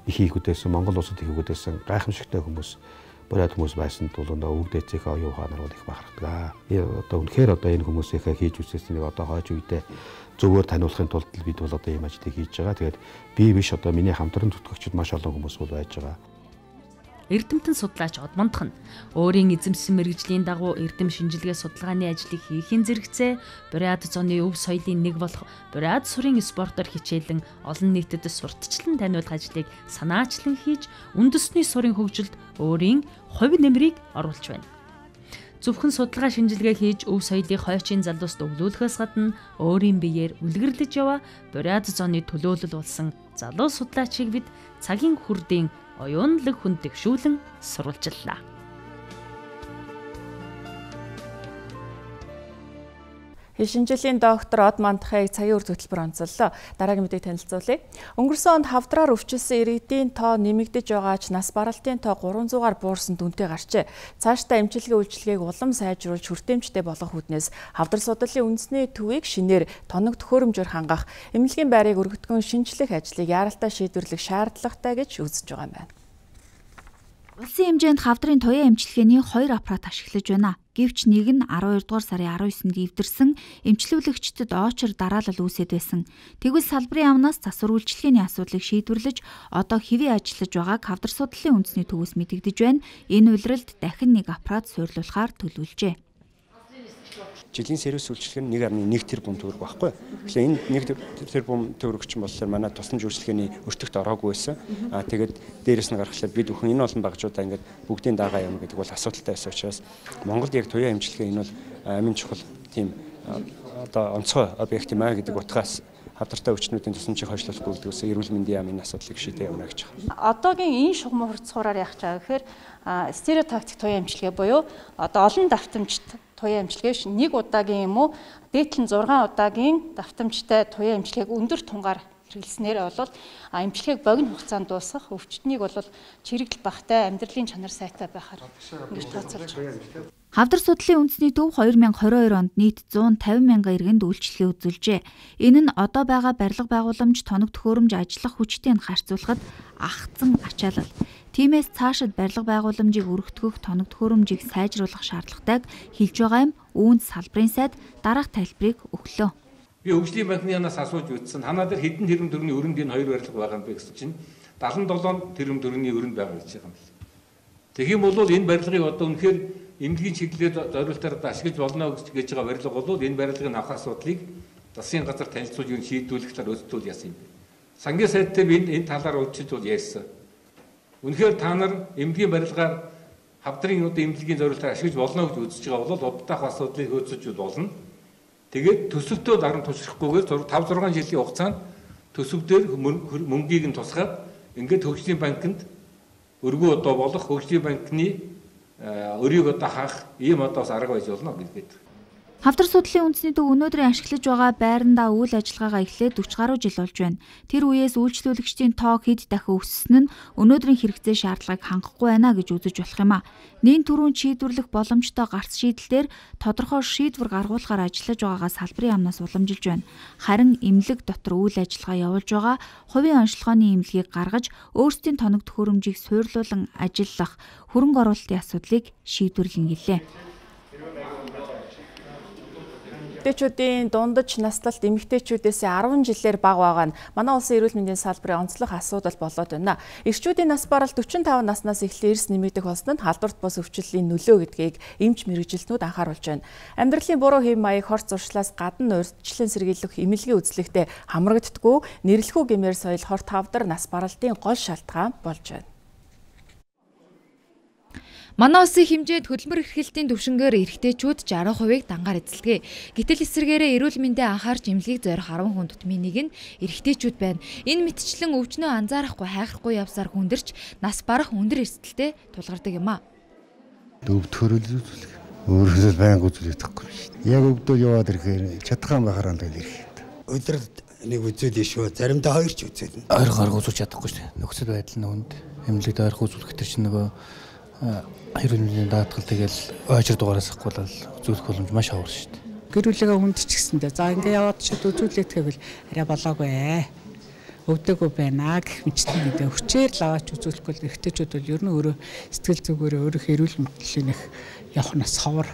их хийгүүдсэн Монгол улсад хийгүүдсэн гайхамшигтай хүмүүс бариад хүмүүс байсан тул өвөг дээцийнхээ оюун ухаанаар бол их бахархдаг. Одоо үнэхээр одоо энэ хүмүүсийнхээ хийж үсэснийг одоо хойч үедээ зөвөр таниулахын тулд бид бол одоо ийм ажлыг хийж байгаа. Тэгээд би биш одоо миний хамтран зүтгэгчид маш олон хүмүүс бол байж байгаа. Эрдэмтэн судлаач Одмондох нь өөрийн эзэмсэн мэргэжлийн дагуу эрдэм шинжилгээ судалгааны ажлыг хийхин зэрэгцээ Буряд зооны өв соёлын нэг болох Буряд сурын спортоор хичээлэн олон нийтэд сурталчлан таниулах ажлыг санаачлан хийж үндэсний сурын хөгжилд өөрийн хувь нэмрийг оруулж байна. Зөвхөн судалгаа шинжилгээ хийж өв соёлыг хойчийн залуусд өглөөлөхөөс гадна өөрийн биеэр үлгэрлэж яваа Буряд зооны төлөөлөл болсон залуу судлаачийг бид цагийн хүрдийн оюунлаг хүн тэгшүүлэн сурвалжлаа. Шинжилгээний доктор Одмондохыг цагийн үр хөтөлбөр онцоллоо. Дараагийн мэдээг танилцуулъя. Өнгөрсөн онд хавдраар өвчлсөн иргэдийн тоо нэмэгдэж байгаа ч нас баралтын тоо 300-аар буурсан дүнтэй гарчээ. Цаашдаа эмчилгээ үйлчилгээг улам сайжруулж хүртээмжтэй болгох үүднээс хавдар судлалын үндэсний төвийг шинээр тоног төхөөрөмжөөр хангах, эмнэлгийн байрыг өргөдгөн шинжлэх ажлыг яаралтай шийдвэрлэх шаардлагатай гэж үзэж байгаа юм байна. Улсын хэмжээнд хавдрын туяа эмчилгээний 2 аппарат ашиглаж байна. Гэвч нэг нь 12 дугаар сарын 19-нд эвдэрсэн эмчилүүлэгчдэд оочор дараалал үүсэт байсан. Тэгвэл салбарын амнаас засвар үйлчилгээний асуудлыг шийдвэрлэж одоо хэвээ ажиллаж байгааг хавдар судлалын үндэсний төвөөс мэдэгдэж байна. Энэ улиралд дахин нэг аппарат суйрлуулахаар төлөвлөжээ. Жилийн сервис үйлчилгээ нь 1.1 тэрбум төгрөг байхгүй. Тэгэхээр энэ 1 тэрбум төгрөгч болохоор манай тусламж үйлчилгээний өртөгт ороогүй байсан. Тэгээд дээрэс нь гаргахлаа бид бүхэн энэ олон багжуудаа ингээд бүгдийн дагаа юм гэдэг бол асуудалтай байсан учраас Монголд яг туяа эмчилгээ энэ бол амин чухал тийм одоо онцгой объект юм а гэдэг утгаас хавдартай өвчтнүүдийн тусламжийг хойшлуулах гүйцэтгэсэн эрүүл мэндийн яамны асуудлыг шийдэх явна гэж байна. Одоогийн энэ шугам хурцгаараар яах чагаа гэхээр стереотактик туяа эмчилгээ буюу одоо олон давтамжт туяа эмчилгээ нэг удаагийн юм уу дээдлэн 6 удаагийн давтамжтай туяа эмчилгээг өндөр тунгаар хэрэглэснээр бол эмчилгээг богино хугацаанд дуусгах өвчтнийг бол чирэгдэл багтай амьдралын чанар сайтай байхаар ингэж тооцоолж байна. Хавдар судлалын үндэсний төв 2022 онд нийт 150 мянган иргэнд үйлчилгээ үзүүлжээ. Энэ нь одоо байгаа барилга байгууламж, тоног төхөөрөмж ажиллах хүчтэйг харьцуулахад агцсан ачаалал. Тиймээс цаашид барилга байгууламжийг өргөтгөх, тоног төхөөрөмжийг сайжруулах шаардлагатайг хэлж байгаа юм. Үүнд салбарын сайд дараах тайлбарыг өглөө. Би хөгжлийн банкнаас асууж үзсэн. Танаа дээр хэдэн тэрбум төгрөгийн өрөнд энэ хоёр барилга байгаа юм бэ гэсэн чинь 77 тэрбум төгрөгийн өрөнд байгаа гэж байгаа юм байна. Тэгэх юм бол энэ барилгыг одоо үнэхээр эмнэлгийн чиглэлээр зориултаар ашиглаж болно гэж байгаа барилга бол энэ барилгын авах асуудлыг засгийн газар танилцуулж юу шийдвэрлэх талаар өсөлтөл яасан юм. Сангийн сайд дээр энэ талаар уулзч бол ярьсан. Үнэхээр та нар эмнэлгийн барилгаар хавдрын эмнэлгийн зориултаар ашиглаж болно гэж үзэж байгаа бол уддаах асуудлыг хөөцөж болно. Тэгээд төсөвтөө даран тушрахгүйгээр 5-6 жилийн хугацаанд төсөв дээр мөнгийг нь тусгаад ингээд хөгжлийн банкнд өргөө одоо болох хөгжлийн банкны өрийг одоо хаах ийм одоо бас арга байж болно гэдэг. Хавдар судлалын үндэсний төв өнөөдрийн ашиглаж байгаа байрандаа үйл ажиллагаагаа эхлээд 40 гаруй жил болж байна. Тэр үеэс үйлчлүүлэгчдийн тоо хэд дахин өссөн нь өнөөдрийн хэрэгцээ шаардлагыг хангахгүй байна гэж үзэж болох юм а. Нийт төрийн шийдвэрлэх боломжтой гарц шийдэлээр тодорхой шийдвэр гаргуулахаар ажиллаж байгаагаа салбарын амнаас уламжилж байна. Харин эмнэлэг дотор үйл ажиллагаа явуулж байгаа хувийн онцлогооны эмнэлгийг гаргаж өөрсдийн тоног төхөөрөмжийг суйрлуулан ажиллах хөрөнгө оруулалтын асуудлыг шийдвэрлэн гэлээ. Эмэгтэйчүүдийн дундаж наслалт эмэгтэйчүүдээс 10 жилээр бага байгаа нь манай улсын эрүүл мэндийн салбарын онцлог асуудал болоод байна. Эрчүүдийн нас баралт 45 наснаас эхлээ эрс нэмэгдэх болсон нь халдварт бус өвчлөлийн нөлөө гэдгийг эмч мэргэжилтнүүд анхааруулж байна. Амьдралын буруу хэв маяг хорц зуршлаас гадна урьдчилан сэргийлэх эмнэлгийн үзлэгтээ хамрагддаггүй нэрлэхүү гэмээр соёл хорт хавдар нас баралтын гол шалтгаан болж байна. Манай улсын хэмжээнд хөдөлмөр эрхлэлтийн түвшингээр эрэгтэйчүүд 60%-ийг дангаар эзэлдэг. Гэтэл эсвэргээрээ эрүүл мэндэд анхаарч эмнэлгийг зорих 10 хүн тутмын нэг нь эрэгтэйчүүд байна. Энэ мэтчлэн өвчнөө анзаарахгүй хайхрахгүй явсаар хүндэрч нас барах өндөр эрсдэлтэй тулгардаг юм а. Өвдөхөрөл өөрөөсөө байнга үзүүлэх таахгүй шүү дээ. Яг өвдөө яваад ирэхээр чадхаан байхаар л ирэх. Өдөрт нэг үзүүлээ шүү. Заримдаа хоёр ч үзүүлнэ. Ойр гарга үзүүлж чадахгүй шүү дээ. Нөхцөл байдал нь үнд эмнэлэгт ойрхон үзүүлэх төр чинь нөгөө эрүүл мэндийн даатгал тэгэл ойжир дугаараас ахгүй бол үзүүлэх боломж маш ховор шүү дээ. Гэрүүлэгээ хүндчихсэндээ за ингээ яваад шууд үзүүлээд гэвэл арай болоогүй өвдөгөө байна гэх мэтчтэй гэдэг хүчээр л аваач үзүүлэхгүй л эрэгтэйчүүд бол ер нь өөрөө сэтгэл зүгээрээ өөрийнхөө эрүүл мэндийн явах нас ховор.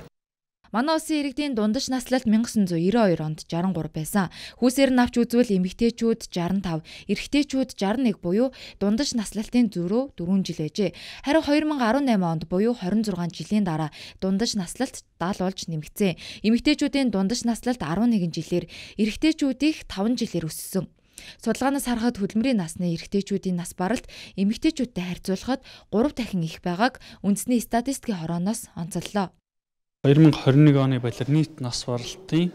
Манай улсын иргэдийн дундаж наслалт 1992 онд 63 байсан. Хүүсээр нь авч үзвэл эмэгтэйчүүд 65, эрэгтэйчүүд 61 буюу дундаж наслалтын зөрүү 4 жил ээжээ. Харин 2018 онд буюу 26 жилийн дараа дундаж наслалт 70 болж нэмэгдсэн. Эмэгтэйчүүдийн дундаж наслалт 11 жилээр, эрэгтэйчүүдийнх 5 жилээр өссөн. Судалгаанаас харахад хөдөлмөрийн насны эрэгтэйчүүдийн нас баралт эмэгтэйчүүдтэй харьцуулахад 3 дахин их байгааг үндэсний статистикийн хорооноос онцоллоо. 2021 оны байдлаар нийт нас баралтын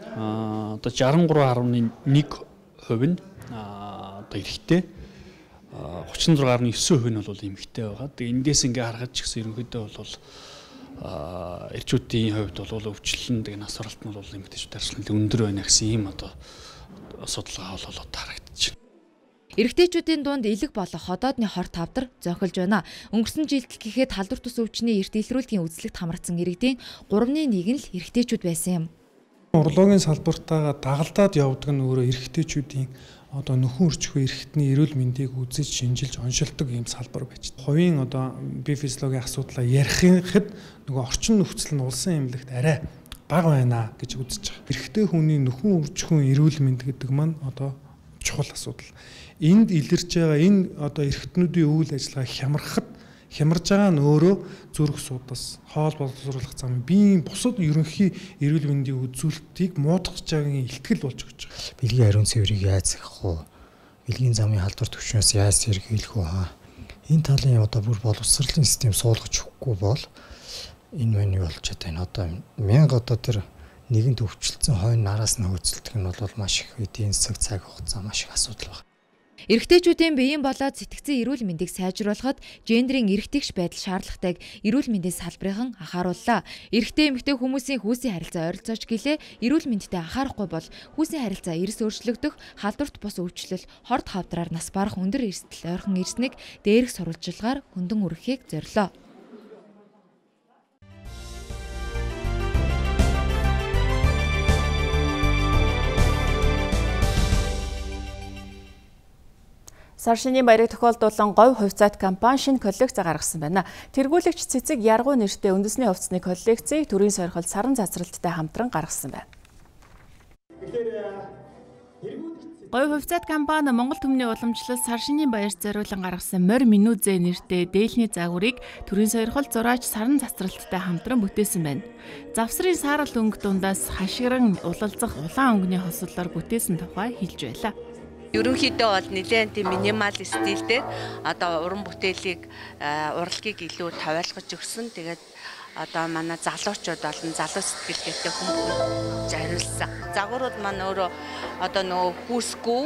одоо 63.1% нь одоо эрэгтэй 36.9% нь бол эмэгтэй байгаа. Тэгээ эндээс ингээ харахад ч гэсэн ерөнхийдөө бол эрчүүдийн хувьд бол өвчлөлн тэгээ нас баралт нь бол эмэгтэйчүүд харьцуулбал өндөр байна гэсэн ийм одоо судалгаа болоод харагдаж байна. Эрэгтэйчүүдийн дунд элэг болох ходоодны хорт хавдар зохилж байна. Өнгөрсөн жилд гэхэд халдвар тус өвчний эрт илрүүлгийн үзлэгт хамрагдсан иргэдийн 3/1 нь л эрэгтэйчүүд байсан юм. Урлагийн салбартаа дагалдаад явдаг нь өөрөө эрэгтэйчүүдийн одоо нөхөн өрчхүй эрэгтний эрүүл мэндийг үзэж шинжилж оншилдог ийм салбар байж. Хувийн одоо бие физиологийн асуудлаа ярихад нөгөө орчин нөхцөл нь улсын эмнэлэгт арай бага байна гэж үзэж байгаа. Эрэгтэй хүний нөхөн өрчхүйн эрүүл мэнд гэдэг маань одоо чухал асуудал. Энд илэрч байгаа энэ одоо эрэгтнүүдийн үйл ажиллагаа хямарж байгаа нь өөрөө зүрх судас, хоол боловсруулах зам, биеийн бусад ерөнхий эрүүл мэндийн үзүүлэлтийг муудахж байгаагийн илтгэл болж өгч байгаа. Бэлгийн ариун цэврийг яаж сахих вэ? Бэлгийн замын халдвар төвчнөөс яаж сэргийлэх вэ? Энэ талын одоо бүр боловсролын систем суулгаж өгөхгүй бол энэ мань болж байгаа. Одоо 1000 одоо тэр нэгэнт өвчлөлтсөн хойно нараас нь хөөцөлдөх нь бол маш их эдийн засаг цаг хугацаа маш их асуудал байна. Эрэгтэйчүүдийн биеийн болоод сэтгцэн эрүүл мэндийг сайжруулахад гендерийн эрэгтэйгш байдал шаардлагатайг эрүүл мэндийн салбарын анхаарууллаа. Эрэгтэй эмэгтэй хүмүүсийн хүүсийн харилцаа ойролцооч гэлээ эрүүл мэндэд анхаарахгүй бол хүүсийн харилцаа эрс өөрчлөгдөх, халдварт бус өвчлөл, хорт хавдраар нас барах өндөр эрсдэл ойрхон ирснийг дээрх сурвалжилгаар хөндөн үргэхийг зорилоо. Сар шинийн баярыг тохиолдуулан говь хувьцаат компани шинэ коллекц гаргасан байна. Тэргүүлэгч цэцэг Яргуу нэртэй үндэсний хувцсны коллекцийг төрийн сойрхол саран цацралттай хамтран гаргасан байна. Говь хувьцаат компани Монгол түмний уламжлал сар шинийн баярт зориулан гаргасан морь минүзэ нэртэй дээлний загварыг төрийн сойрхол зураач саран цацралттай хамтран бүтээсэн байна. Завсрын саарал өнгө дундаас хашгиран улалзах улаан өнгөний хослолоор бүтээсэн тухай хэлж байлаа. Ерөнхийдөө бол нэлээд тийм минимал стилтэй одоо уран бүтээлийг урлагийг илүү тавиалгаж өгсөн. Тэгээд одоо манай залуучууд болон залуу сэтгэлгээтэй хүмүүст зориулсан. Загварууд маань өөрөө одоо нөгөө хүүсгүй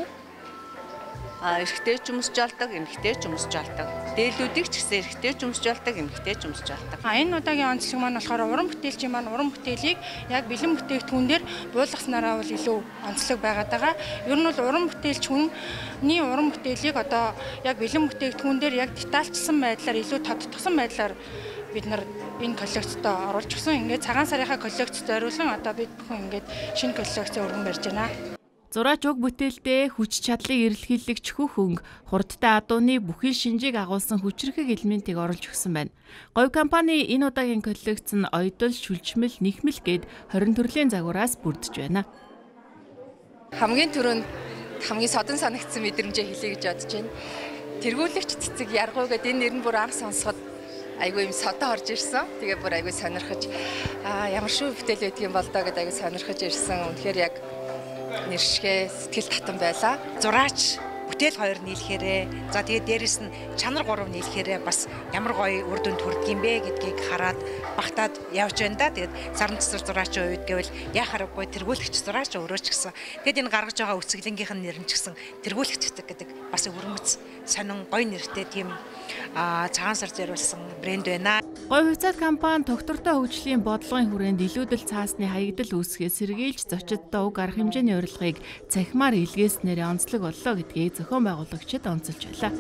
эрэгтэй ч өмсөж олдог, эмэгтэй ч өмсөж олдог. Дээлүүдийг ч гэсэн эрэгтэй ч өмсөж олдог, эмэгтэй ч өмсөж олдог. Энэ удаагийн онцлог маань болохоор уран бүтээлчийн маань уран бүтээлийг яг бэлэн бүтээгдэхүүнээр буулгаснараа бол илүү онцлог байгаад байгаа. Ер нь бол уран бүтээлч хүний уран бүтээлийг одоо яг бэлэн бүтээгдэхүүн дээр яг детальчсан байдлаар илүү тодтогсон байдлаар бид нар энэ коллекцид оруулж гисэн. Ингээд цагаан сарынхаа коллекцид зориулсан одоо бид бүхэн ингээд шинэ коллекц өргөн барьж байна. Зураач уг бүтээлдээ хүч чадлыг эрэлхийлэгч хөнг, хурдтай адууны бүхий шинжийг агуулсан хүчрхэг элементийг оруулж өгсөн байна. Говь компани энэ удаагийн коллекц нь оёдол, шүлжмэл, нэхмэл гээд 20 төрлийн загвараас бүрдэж байна. Хамгийн түрүүнд хамгийн содон санагдсан мэдрэмжээ хэлье гэж бодож байна. Тэргүүлэгч цэцэг яргуу гэдэг энэ нэр нь бүр анх сонсоход айгүй юм содон орж ирсэн. Тэгээ бүр айгүй сонирхож ямар шүү бүтээл байдгийн бол доо гэдэг айгүй сонирхож ирсэн. Үнэхээр яг нэршгэ сэтгэл татан байла. Зураач бүтээл хоёр нийлэхээрээ за тэгээд дээрэс нь чанар гурав нийлэхээрээ бас ямар гоё үр дүнд хүрдэг юм бэ гэдгийг хараад багтаад явж байна да. Тэгээд сарн цэцэр зураачийн үед гэвэл яа харахгүй тэргүүлэгч зураач өөрөө ч гэсэн тэгээд энэ гаргаж байгаа үсгэлэнгийнх нь нэр нь ч гэсэн тэргүүлэгч цэцэг гэдэг бас өрмөц сонин гоё нэртэй тийм цагаан сар зориулсан брэнд байна. Говь хувьцаат компани тогтвортой хөгжлийн бодлогын хүрээнд илүүдэл цаасны хаягдал үүсгээс сэргийлж зочидтой уг арга хэмжээний урилгыг цахимаар илгээснээр онцлог боллоо гэдгийг зохион байгуулагчид онцолж байлаа.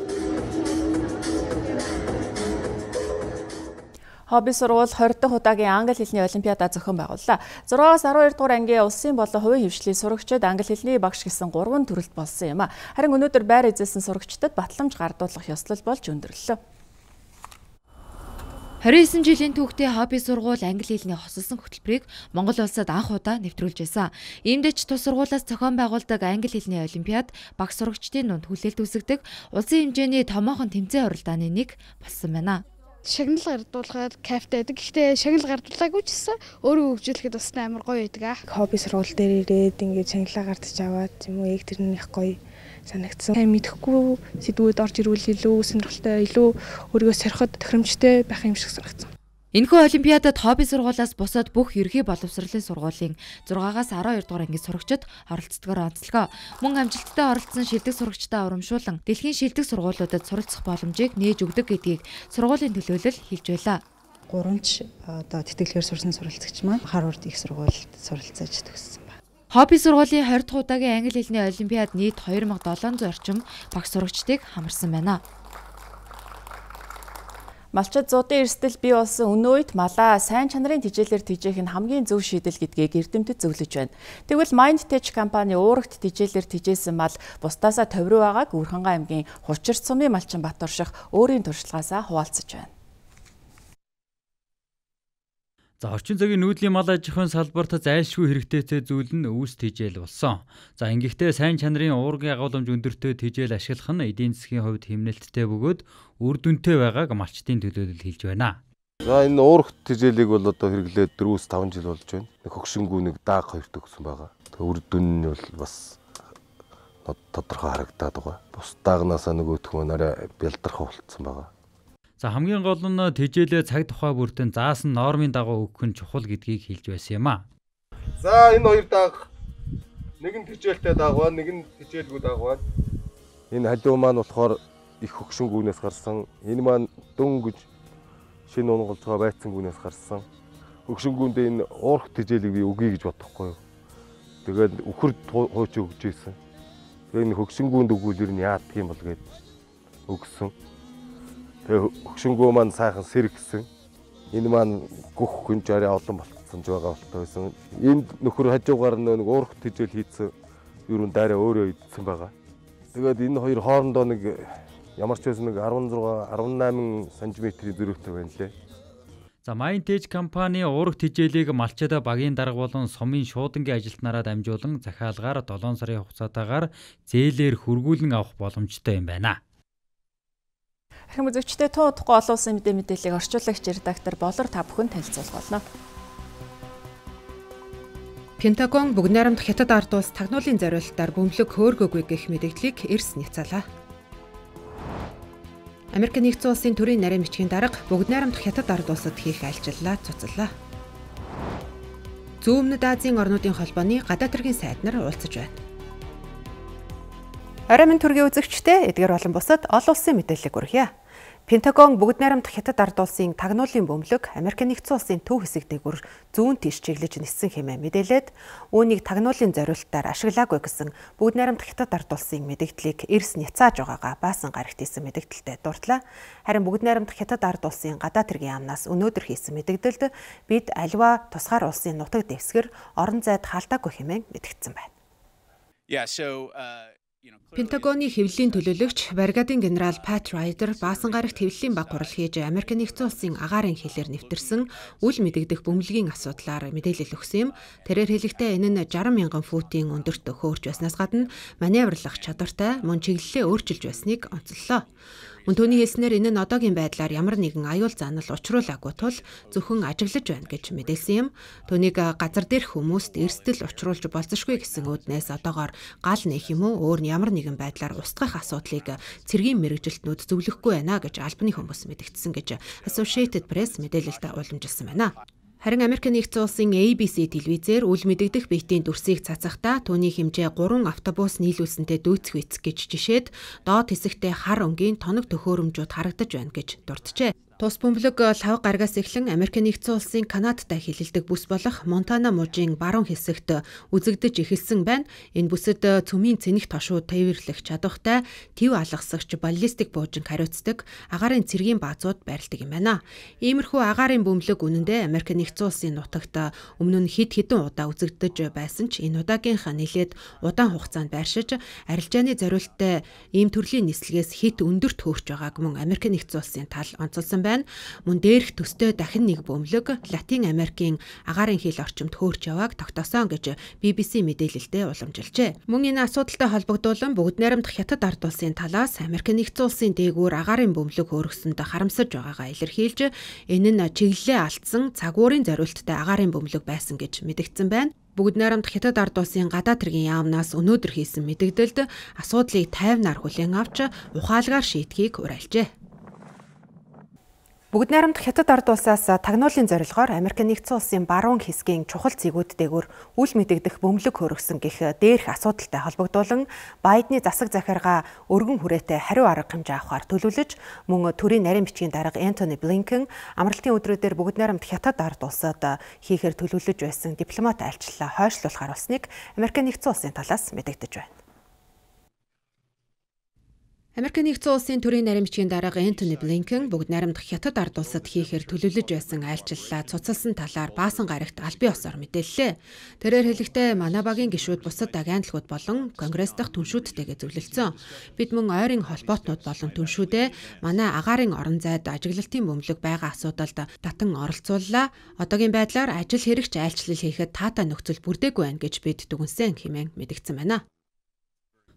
Хобби сургууль 20 дахь удаагийн англи хэлний олимпиада зохион байгууллаа. 6-аас 12 дугаар ангийн улсын болон хувийн хвшлийн сурагчид англи хэлний багш гэсэн 3 төрөлд болсон юм а. Харин өнөөдөр байр эзэлсэн сурагчдад батламж гардуулах ёслол болж өндөрлөлөө. 29 жилийн түүхтэй хобби сургууль англи хэлний хосолсон хөтөлбөрийг Монгол улсад анх удаа нэвтрүүлж байсан. Иймдээч тус сургуулиас зохион байгуулдаг англи хэлний олимпиад багш сурагчдын дунд хүлээлт үүсгэдэг улсын хэмжээний томоохон тэмцээн уралдааны нэг болсон байна. Шагнал гардуулахад кайфтай байдаг. Гэхдээ шагнал гардуулаагүй ч гэсэн өөрөө хөгжүүлэхэд бас амар гоё байдаг. Хобби сургууль дээр ирээд ингээд шагналаа гардаж аваад юм уу яг тэрнийх гоё санагдсан. Мэдэхгүй сэдвүүд орж ирвэл илүү сонирхолтой, илүү өөрийгөө сориход тохиромжтой байх юм шиг санагдсан. Энэхүү олимпиадад хобби сургуулиас бусад бүх ерхий боловсролын сургуулийн 6-аас 12 дугаар ангийн сурагчид оролцдогоор онцлогоо. Мөн амжилттай оролцсон шилдэг сурагчдаа урамшуулан дэлхийн шилдэг сургуулиудад суралцах боломжийг нээж өгдөг гэдгийг сургуулийн төлөөлөл хэлж байлаа. 3 одоо тэтгэлгээр сурсан суралцагч маань хар урд их сургуульд суралцаж төгссөн. Хобби сургуулийн 20 дахь удаагийн англи хэлний олимпиад нийт 2700 орчим багш сурагчдыг хамарсан байна. Малчид зуудын эрсдэл бий болсон өнөө үед малаа сайн чанарын тэжээлээр тэжээх нь хамгийн зөв шийдэл гэдгийг эрдэмтэд зөвлөж байна. Тэгвэл Mindtech компани уурагт тэжээлээр тэжээсэн мал бусдаасаа товруу байгааг Үрхангай аймгийн Хучирт сумын малчин Батурших өөрийн туршлагаасаа хуваалцаж байна. За орчин цагийн нүүдлийн мал аж ахуйн салбарт зайлшгүй хэрэгтэйтэй зүйл нь өвс тэжээл болсон. За ингэхдээ сайн чанарын уургийн агуулмж өндөртэй тэжээл ашиглах нь эдийн засгийн хувьд хэмнэлттэй бөгөөд үр дүнтэй байгааг малчдын төлөөлөл хэлж байна. За энэ уурах тэжээлийг бол одоо хэрэглээд 4-5 жил болж байна. Хөгшингүү нэг дааг 2 төгсөн байгаа. Тэгээ үр дүн нь бол бас тодорхой харагдаад байгаа. Бус даагнаасаа нөгөөх нь арай бэлдархаа болцсон байгаа. За хамгийн гол нь тэжээлээ цаг тухай бүртэн заасан нормын дагуу өгөх нь чухал гэдгийг хэлж байсан юм а. За энэ хоёр дааг нэг нь тэжээлтэй дааг байна, нэг нь тэжээлгүй дааг байна. Энэ халиу маань болохоор их хөгшингүүнээс гарсан. Энэ маань дүн гэж шинэ унгалж байгаа байцсангүүнээс гарсан. Хөгшингүүндээ энэ уурах тэжээлийг би өгье гэж бодохгүй юу. Тэгээд үхэрд хууч өгч ийсэн. Тэгээд энэ хөгшингүүнд өгвөл ер нь яадаг юм бол гээд өгсөн. Тэгээ хөгшингүү маань сайхан сэргсэн. Энэ маань гүх гүнж арай олон болцсон ч байгаа болтой байсан. Энд нөхөр хажуугаар нэг уурах тэжээл хийцэн ер нь дайраа өөрөө идсэн байгаа. Тэгээд энэ хоёр хоорондоо нэг ямар ч байсан нэг 16-18 см зөрүүтэй байна лээ. За Mindtech компани уурах тэжээлийг малчид багийн дарга болон сумын шуудангийн ажилтнаараа дамжуулан захиалгаар 7 сарын хугацаатаагаар зээлээр хөргүүлэн авах боломжтой юм байна. Ахим үзэгчдээ туудахгүй олон улсын мэдээллийг орчуулагч редактор Болор та бүхэнд танилцуулах болно. Пентагон бүгд найрамдах хятад ард улс тагнуулын зориулалтаар бөмбөлөг хөөргөөгүй гэх мэдээллийг эрс нэвцээлээ. Америк нэгдсэн улсын төрийн нарийн бичгийн дарга бүгд найрамдах хятад ард улсад хийх айлчлалаа цуцлаа. Зүүн өмнөд Азийн орнуудын холбооны гадаад хэргийн сайд нар уулзаж байна. Орой минь төргийн үзэгчтэй эдгээр болон бусад олон улсын мэдээллийг хүргье. Пентагон бүгд найрамдах Хятад ард улсын тагнуулын бөмбөлөг Америк нэгдсэн улсын төв хэсэг дээгүүр зүүн тийш чиглэж ниссэн хэмээн мэдээлээд үүнийг тагнуулын зориулалтаар ашиглаагүй гэсэн бүгд найрамдах Хятад ард улсын мэдээллийг эрс няцааж байгаагаа баасан гарагт хийсэн мэдээлэлтэй дурдлаа. Харин бүгд найрамдах Хятад ард улсын гадаад хэргийн яамнаас өнөөдөр хийсэн мэдээлэлд бид аливаа тусгаар улсын нутаг дэвсгэр орон зайд хаалтаагүй хэмээн мэдгдсэн байна. Пентагоны хэвлэлийн төлөөлөгч бригадын генерал Пат Райдер баасан гарагт хэвлэлийн баг хурал хийж Америк нэгдсэн улсын агаарын хэлээр нэвтэрсэн үл мэдэгдэх бөмбөлгийн асуудлаар мэдээлэл өгсөн юм. Тэрээр хэлэхдээ энэ нь 60 мянган футын өндөрт хөөрч байснаас гадна маневрлах чадвартай мөн чиглэлээ өөрчилж байсныг онцоллоо. Мөн түүний хэлснээр энэ нь одоогийн байдлаар ямар нэгэн аюул занал учруулаагүй тул зөвхөн ажиглаж байна гэж мэдээлсэн юм. Түүнийг газар дээрх хүмүүст эрсдэл учруулж болзошгүй гэсэн үүднээс одоогоор гал нээх юм уу өөр ямар нэгэн байдлаар устгах асуудлыг цэргийн мэрэгжилтнүүд зөвлөхгүй байна гэж албаны хүмүүс мэдгдсэн гэж Associated Press мэдээлэлд уламжилсан байна. Харин Америк нэгдсэн улсын ABC телевизээр үл мэдэгдэх биетийн дүрсийг цацахдаа түүний хэмжээ 3 автобус нийлүүлсэнтэй дүүцэх үйц гэж жишээд доод хэсэгтээ хар өнгийн тоног төхөөрөмжүүд харагдаж байна гэж дурджээ. Тус бөмбөлөг лав гарагаас эхлэн Америк нэгдсэн улсын Канадтай хилэлдэг бүс болох Монтана мужийн баруун хэсэгт үзэгдэж эхэлсэн байна. Энэ бүсэд цөмийн цэнэх тошууд тээвэрлэх чадвартай төв алгасагч баллистик буужинг хариуцдаг агаарын цэргийн баазууд байрладаг юм байна. Иймэрхүү агаарын бөмбөлөг үнэндээ Америк нэгдсэн улсын нутагт өмнө нь хэд хэдэн удаа үзэгдэж байсан ч энэ удаагийнх нэлээд удаан хугацаанд байршиж арилжааны зориулттай ийм төрлийн нислэгээс хэд өндөрт хөөрч байгааг мөн Америк нэгдсэн улсын тал онцолсон байна. Мөн дээрх төстэй дахин нэг бөмбөлөг Латин Америкийн агаарын хил орчимд хөөрч явааг тогтоосон гэж BBC мэдээлэлдээ уламжилжээ. Мөн энэ асуудалтай холбогдуулан бүгд найрамдах Хятад ард улсын талаас Америк нэгдсэн улсын дээгүүр агаарын бөмбөлөг хөөргсөнд харамсаж байгаагаа илэрхийлж энэ нь чиглэлээ алдсан цагуурын зориулттай агаарын бөмбөлөг байсан гэж мэдгдсэн байна. Бүгд найрамдах Хятад ард улсын гадаад хэргийн яамнаас өнөөдөр хийсэн мэдээлэлд асуудлыг тайвнаар хүлээн авч ухаалгаар шийдэхийг уриалжээ. Бүгд найрамдах Хятад ард улсаас тагнуулын зорилгоор Америк нэгдсэн улсын баруун хэсгийн чухал зэгүүд дээгүүр үл мэдэгдэх бөмбөлөг хөөргсөн гэх дээрх асуудалтай холбогдуулан Байдны засаг захиргаа өргөн хүрээтэй хариу арга хэмжээ авахар төлөвлөж мөн төрийн нарийн бичгийн дарга Антони Блинкен амралтын өдрүүдээр бүгд найрамдах Хятад ард улсад хийхээр төлөвлөж байсан дипломат айлчлалаа хойшлуулахар болсныг Америк нэгдсэн улсын талаас мэдэгдэж байна. Америк нэгдсэн улсын төрийн нарийн бичгийн дарга Антони Блинкен бүгд найрамдах Хятад ард улсад хийхээр төлөвлөж байсан айлчлалаа цуцалсан талаар баасан гарагт аль бие усаар мэдээллээ. Тэрээр хэлэхдээ манай багийн гишүүд бусад агентлагууд болон конгресс дахь түншүүдтэйгээ зөвлөлдсөн. Бид мөн ойрын холбоотнууд болон түншүүдээ манай агаарын орон зайд ажиглалтын бөмбөлөг байгаа асуудалд татан оролцууллаа. Одоогийн байдлаар ажил хэрэгч айлчлал хийхэд таатай нөхцөл бүрдээгүй байна гэж бид дүгнсэн хэмээн мэдгдсэн байна.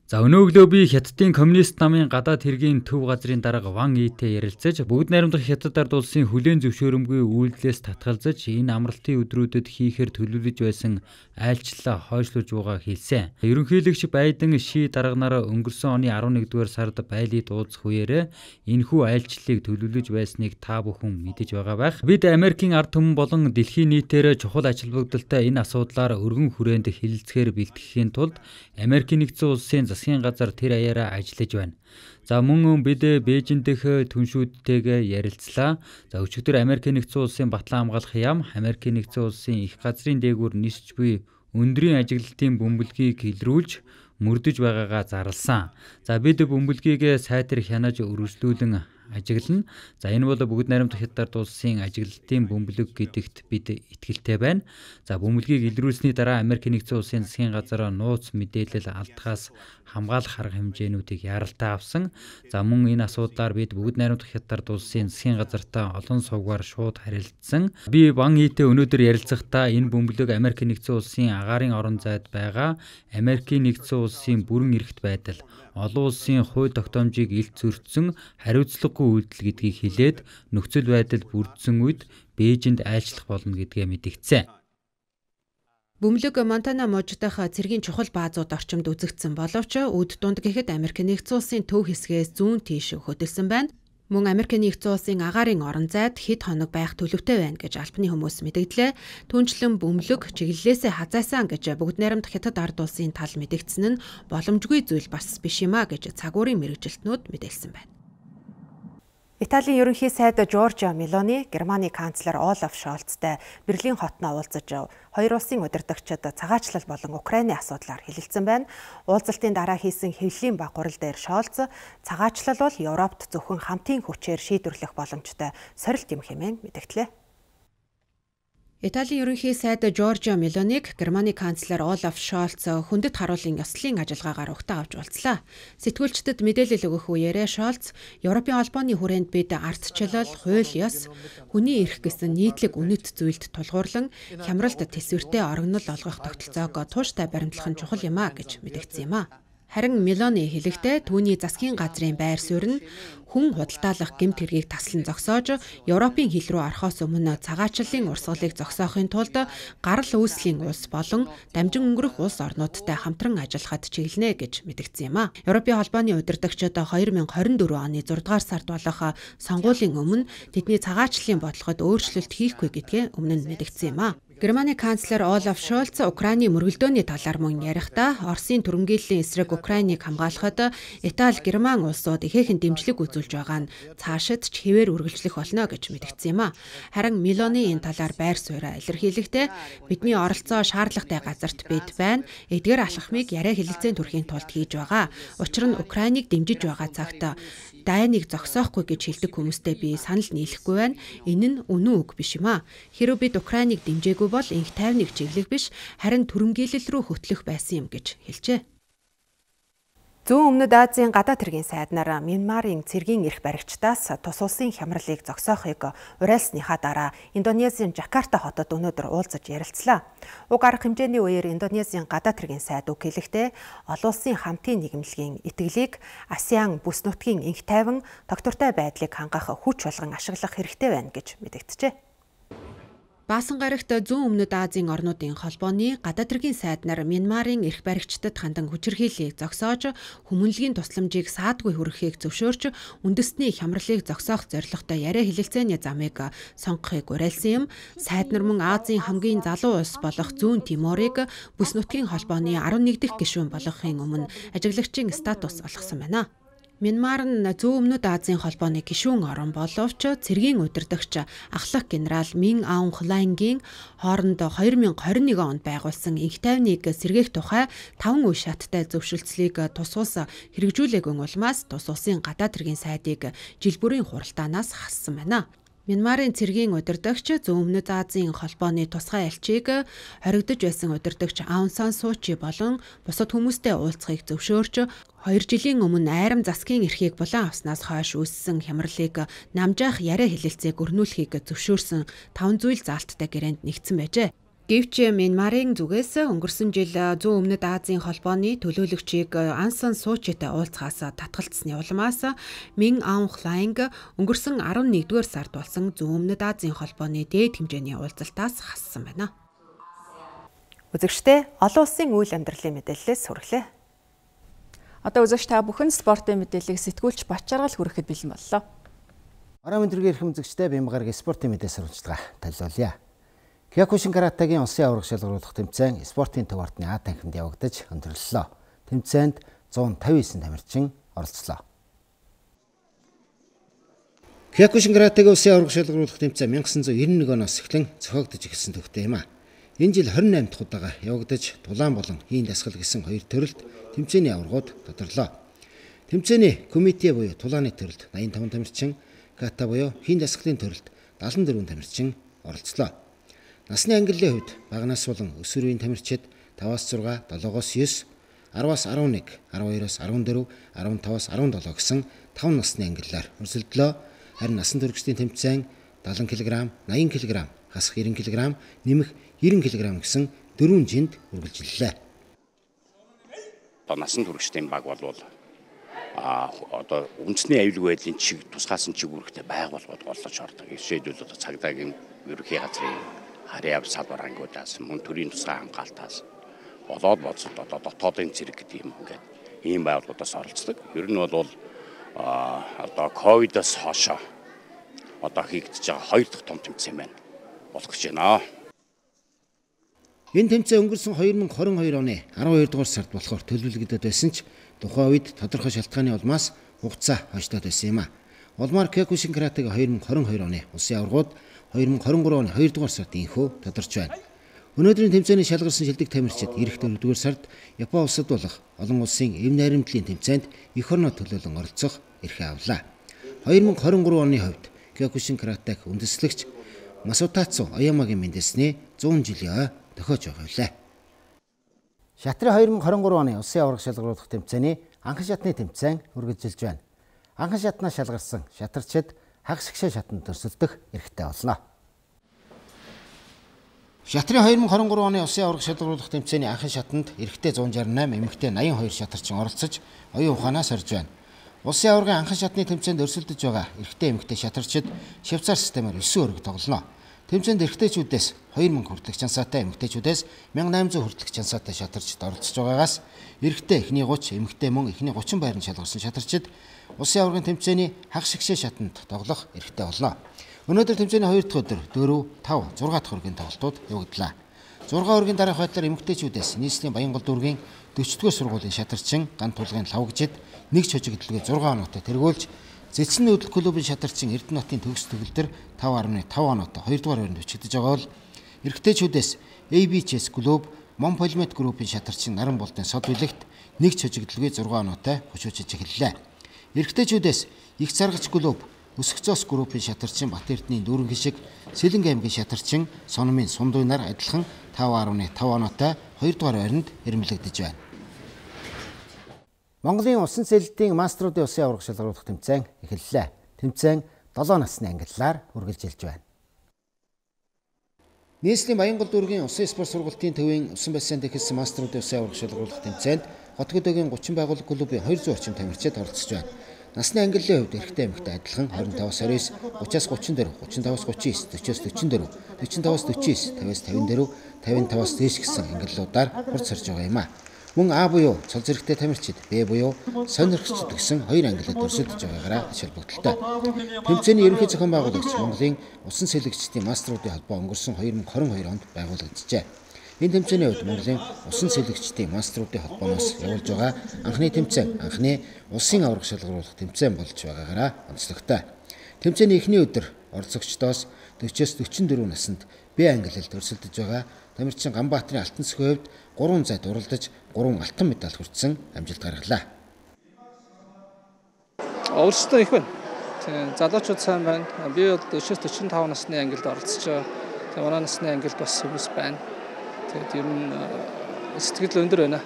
За өнөөглөө би Хятадын коммунист намын гадаад хэргийн төв газрын дарга Ван Итэй ярилцаж бүгд найрамдах Хятад ард улсын хүлээн зөвшөөрөмгүй үйлдэлээс татгалзаж энэ амралтын өдрүүдэд хийхээр төлөвлөж байсан айлчлалаа хойшлуулж байгаа хэлсэн. Ерөнхийлөгч Байден Ши дарганаараа өнгөрсөн оны 11-р сард байлыг дууцах үеэр энэхүү айлчлалыг төлөвлөж байсныг та бүхэн мэдэж байгаа байх. Бид Америкийн ард түмэн болон дэлхийн нийтээр чухал ач холбогдолтой энэ асуудлаар өргөн хүрээнд хэлэлцэхээр бэлтгэхийн тулд Америкийн нэгдсэн улсын засгийн газар тэр аяараа ажиллаж байна. За мөн бид Бээжин дэх түншүүдтэйгээ ярилцлаа. За өчигдөр Америк нэгдсэн улсын батлан хамгаалах яам Америк нэгдсэн улсын их газрын дээгүүр нисч буй өндрийн ажиглалтын бөмбөлгийг илрүүлж мөрдөж байгаагаа зарласан. За бид бөмбөлгийг сайтар хянаж өргөжлүүлэн ажиглана. За энэ бол бүгд найрамдах Хятад ард улсын ажиглалтын бөмбөлөг гэдэгт бид итгэлтэй байна. За бөмбөлгийг илрүүлсний дараа Америк нэгдсэн улсын засгийн газар нууц мэдээлэл алдахаас хамгаалах арга хэмжээнүүдийг яралтай авсан. За мөн энэ асуудлаар бид бүгд найрамдах Хятад ард улсын засгийн газартай олон сувгаар шууд харилцсан. Би Ван Итэй өнөөдөр ярилцахдаа энэ бөмбөлөг Америк нэгдсэн улсын агаарын орон зайд байгаа Америк нэгдсэн улсын бүрэн эрхт байдал, олон улсын хууль тогтоомжийг илт зөрчсөн хариуцлагагүй үйлдэл гэдгийг хэлээд нөхцөл байдал бүрдсэн үед Бээжинд айлчлах болно гэдгээ мэдгдсэн. Бөмбөлөг Монтана мужид дах цэргийн чухал баазууд орчимд үзэгдсэн боловч өд дунд гэхэд Америк нэгдсэн улсын төв хэсгээс зүүн тийш хөдөлсөн байна. Мөн Америкийн нэгдсэн улсын агаарын орон зайд хэд хоног байх төлөвтэй байна гэж албаны хүмүүс мэдэгдлээ. Түүнчлэн бөмбөлөг чиглэлээсээ хазаасан гэж бүгд найрамдах хятад ард улсын тал мэдэгдсэн нь боломжгүй зүйл бас биш юм а гэж цагуурын мэргэжилтнүүд мэдээлсэн байна. Италийн ерөнхий сайд Жоржиа Мелони Германы канцлер Олаф Шольцтай Берлин хотноо уулзаж хоёр улсын удирдагчид цагаачлал болон Украины асуудлаар хэлэлцсэн байна. Уулзалтын дараа хийсэн хэвлэлийн баг гурал дээр Шольц цагаачлал бол Европт зөвхөн хамтын хүчээр шийдвэрлэх боломжтой сорилт юм хэмээн мэдэгдлээ. Италийн ерөнхий сайд Жоржиа Мелониг Германы канцлер Олаф Шольц хүндэт харуулын ёслолын ажиллагаагаар угтаа авч уулзлаа. Сэтгүүлчдэд мэдээлэл өгөх үеэрээ Шольц Европын холбооны хүрээнд бид ардчлал, хууль ёс, хүний эрх гэсэн нийтлэг үнэт зүйлд тулгуурлан хямралд тэсвэртэй орогнол олгох тогтолцоог тууштай баримтлах нь чухал юм а гэж мэдэгдсэн юм а. Харин Мелони хэлэхдээ түүний засгийн газрын байр суурь нь хүн худалдаалах гэмт хэргийг таслан зогсоож Европын хил рүү орохоос өмнө цагаачлалын урсгалыг зогсоохын тулд гарал үүслийн улс болон дамжин өнгөрөх улс орнуудтай хамтран ажиллахад чиглэнэ гэж мэдэгдсэн юм а. Европын холбооны удирдагчид 2024 оны 6 дугаар сард болох сонгуулийн өмнө тэдний цагаачлалын бодлогод өөрчлөлт хийхгүй гэдгээ өмнө нь мэдэгдсэн юм а. Германы канцлер Олаф Шольц Украины мөргөлдөөний талаар мөн ярихдаа Оросын түрэмгийллийн эсрэг Украиныг хамгаалахад Итали, Герман улсууд ихээхэн дэмжлэг үзүүлж байгаа нь цаашид ч хэвээр үргэлжлэх болно гэж мэдэгдсэн юм а. Харин Мелони энэ талаар байр сууриа илэрхийлэхдээ бидний оролцоо шаардлагатай газарт бид байна. Эдгээр алхмыг яриа хэлэлцээний төрхийн тулд хийж байгаа. Учир нь Украиныг дэмжиж байгаа цагт дайныг зогсоохгүй гэж хэлдэг хүмүүстэй би санал нийлэхгүй байна. Энэ нь үнэн үг биш юм а. Хэрэв бид Украиныг дэмжээгүй бол инх тайвныг чиглэх биш, харин түрэмгийлэл рүү хөтлөх байсан юм гэж хэлжээ. Зүүн өмнөд Азийн гадаад хэргийн сайднаар Мянмарын цэргийн эрх баригчдаас тус улсын хямралыг зогсоохыг уриалсныхаа дараа Индонезийн Жакарта хотод өнөөдөр уулзаж ярилцлаа. Уг арга хэмжээний үеэр Индонезийн гадаад хэргийн сайд үг хэлэхдээ олон улсын хамтын нийгэмлэгийн итгэлийг ASEAN бүс нутгийн инх тайван тогтвортой байдлыг хангах хүч болгон ашиглах хэрэгтэй байна гэж мэдэгджээ. Баасан гарагт зүүн өмнөд Азийн орнуудын холбооны гадаад хэргийн сайднаар Мянмарын эрх баригчдад хандан хүчирхийллийг зогсоож, хүмүүнлэгийн тусламжийг саадгүй хүргэхийг зөвшөөрч, үндэсний хямралыг зогсоох зорилготой яриа хэлэлцээний замыг сонгохыг уриалсан юм. Сайднаар мөн Азийн хамгийн залуу улс болох Зүүн Тиморыг бүс нутгийн холбооны 11 дахь гишүүн болгохын өмнө ажиглагчийн статус олгосон байна. Мянмар нь зүүн өмнөд Азийн холбооны гишүүн орн боловч цэргийн удирдагч ахлах генерал Мин Аун Хлайнгийн хооронд 2021 онд байгуулсан инх тайвныг сэргээх тухай 5 үе шаттай зөвшөлтслийг тус улс хэрэгжүүлээгүй улмаас тус улсын гадаад хэргийн сайдыг жил бүрийн хуралдаанаас хассан байна. Мянмарын цэргийн удирдагч зүүн өмнөд Азийн холбооны тусгай элчийг хоригдож байсан удирдагч Аун Сан Суу Чи болон бусад хүмүүстэй уулзахыг зөвшөөрч 2 жилийн өмнө айрам засгийн эрхийг булан авснаас хойш үүссэн хямралыг намжаах яриа хэлэлцээг өрнүүлэхийг зөвшөөрсөн 5 зүйл заалттай гэрээнд нэгдсэн байжээ. Гэвч Мянмарын зүгээс өнгөрсөн жил зүүн өмнөд Азийн холбооны төлөөлөгчийг Аун Сан Суу Читэй уулзахаас татгалцсны улмаас Мин Аун Хлайнг өнгөрсөн 11-р сард болсон зүүн өмнөд Азийн холбооны дээд хэмжээний уулзалтаас хассан байна. Үзэгчдээ олон улсын үйл амьдралын мэдээллээс хүргэлээ. Одоо үзэгч та бүхэн спортын мэдээллийг сэтгүүлч Бачаргал хүрэхэд бэлэн боллоо. Араа мэдрэг эрхэм үзэгчдээ Бямбагаргийн спортын мэдээс сурвалжлага танилцуулъя. Киокушин каратэгийн улсын аварга шалгаруулах тэмцээн спортын төв ортны А танхимд явагдаж өндөрлөлөө. Тэмцээнд 159 тамирчин оролцлоо. Киокушин каратэгийн улсын аварга шалгаруулах тэмцээн 1991 оноос эхлэн зохиогдож эхэлсэн төвтэй юм а. Энэ жил 28 дахь удаага явагдаж дулаан болон хийн дасгал гэсэн хоёр төрөлд тэмцээний аваргууд тодорлоо. Тэмцээний комитет буюу тулааны төрөлд 85 тамирчин, ката буюу хийн дасгалын төрөлд 74 тамирчин оролцлоо. Насны ангиллын хувьд багнаас болон өсвөр үеийн тамирчид 5-аас 6, 7-оос 9, 10-аас 11, 12-оос 14, 15-аас 17 гэсэн 5 насны ангиллаар өрсөлдлөө. Харин насан туршидын тэмцээн 70 кг, 80 кг, хасах 90 кг, нэмэх 90 кг гэсэн 4 жинд үргэлжлэлээ. Насан туршидын баг бол одоо үндэсний аюулгүй байдлын чиг тусгаасан чиг үүрэгтэй байгууллагууд голлож ордог. Жишээлбэл цагдаагийн ерөнхий газрын харьяав салбар ангуудаас мөн төрийн тусгай хамгаалтаас болоод боцод одоо дотоодын цэрэг гэдэг юм ингээд ийм байгууллагуудаас оролцдог. Ер нь бол одоо ковидоос хойшоо одоо хийгдэж байгаа 2 дахь том тэмцээн байна болох гэж байна. Энэ тэмцээн өнгөрсөн 2022 оны 12 дугаар сард болохоор төлөвлөгдөд байсан ч тухайн үед тодорхой шалтгааны улмаас хугацаа хойшлоод байсан юм а. Улмаар Кёкушин каратега 2022 оны улсын аваргууд 2023 оны 2 дугаар сард инхүү тодорч байна. Өнөөдрийн тэмцээний шалгарсан шилдэг тамирчид эх 4 дугаар сард Япон улсад болох олон улсын эв найрамдлын тэмцээнд эх орноо төлөөлөн оролцох эрхээ авлаа. 2023 оны хувьд Кёкушин каратег үндэслэгч Масутацу Оямагийн мэндэлсний 100 жилийн ой тохиож байгаа билээ. Шатрын 2023 оны улсын аварга шалгаруулах тэмцээний анхан шатны тэмцээн үргэлжилж байна. Анхан шатнаа шалгарсан шатарчид хагас гişэ шатанд өрсөлдөх эрхтэй болно. Шатрын 2023 оны улсын аварга шалгаруулах тэмцээний анхан шатанд эрэгтэй 168, эмэгтэй 82 шатарчин оролцож оюун ухаанаас орж байна. Улсын аваргын анхан шатны тэмцээнд өрсөлдөж байгаа эрэгтэй эмэгтэй шатарчид Швейцар системээр 9 өрөг тоглоно. Тэмцээнд эрэгтэйчүүдээс 2000 хүртэлх чансаатай, эмэгтэйчүүдээс 1800 хүртэлх чансаатай шатарчид оролцож байгаагаас эрэгтэй эхний 30, эмэгтэй мөн эхний 30 байранд шалгарсан шатарчид улсын аваргын тэмцээний хагас гişэ шатанд тоглох эрхтэй болно. Өнөөдөр тэмцээний 2 дахь өдөр 4, 5, 6 дахь өргийн тоглолтууд явагдлаа. 6 өргийн дараах байдлаар эмэгтэйчүүдээс нийслэлийн Баянгол дүүргийн 40-р сургуулийн шатарчин Ган тулгын лавгжид нэг чожигдлгээ 6 оноотой тэргүүлж Зэцэн нүүдэл клубын шатарчин Эрдэнэтийн төгс төгөлдөр 5.5 оноотой 2 дугаар байранд өчигдөж байгаа бол эрэгтэйчүүдээс ABCS клуб Монполимет группийн шатарчин Наран болтын сод билэгт нэг чожигдлгээ 6 оноотой хөшөөж эхэллээ. Эрэгтэйчүүдээс их заргач клуб Өсгцоос группийн шатарчин Бат Эрдэнийн дүүрэн гişиг Сэлэнг аймгийн шатарчин Сономын Сундуйнаар адилхан 5.5 оноотой 2 дугаар байранд ирмэлэгдэж байна. Монголын усан сэлэлтийн мастеруудын улсын аварга шалгаруулах тэмцээн эхэллээ. Тэмцээн 7 насны ангиллаар үргэлжилж байна. Нийслэлийн Баянгол дүүргийн усан спорт сургалтын төвийн усан бассейнд эхэлсэн мастеруудын улсын аварга шалгаруулах тэмцээнд Хотгодогийн 30 байгууллага клубын 200 орчим тамирчид оролцож байна. Насны ангиллын хувьд эрэгтэй эмэгтэй адилхан 25-аас 29, 30-аас 34, 35-аас 39, 40-аас 49, 44, 49, 50-аас 54, 55-аас дээш гэсэн ангиллуудаар хурц сорж байгаа юм а. Мөн А буюу цол зэрэгтэй тамирчид, Б буюу сонирхчид гэсэн хоёр ангиллад өрсөлдөж байгаагаараа ач холбогдолтой. Тэмцээний ерөнхий зохион байгуулагч Монголын усан сэлэгчдийн мастеруудын холбоо өнгөрсөн 2022 онд байгуулагдажээ. Энэ тэмцээний үед Монголын усан сэлэгчдийн мастеруудын холбооноос явуулж байгаа анхны тэмцээн, анхны улсын аварга шалгаруулах тэмцээн болж байгаагаараа онцлогтой. Тэмцээний эхний өдөр оролцогчдоос 40-аас 44 наснд Б ангиллалд өрсөлдөж байгаа тамирчин Ганбаатарын алтан цэхийн хувьд 3 зайд уралдаж 3 алтан медаль хүртсэн амжилт гаргалаа. Өөрсдөө их байна. Залуучууд сайн байна. Би бол 40-45 насны ангилд оролцож байгаа. Тэгээ манай насны ангилд бас хүмүүс байна. Тэгээд ер нь сэтгэл өндөр байна.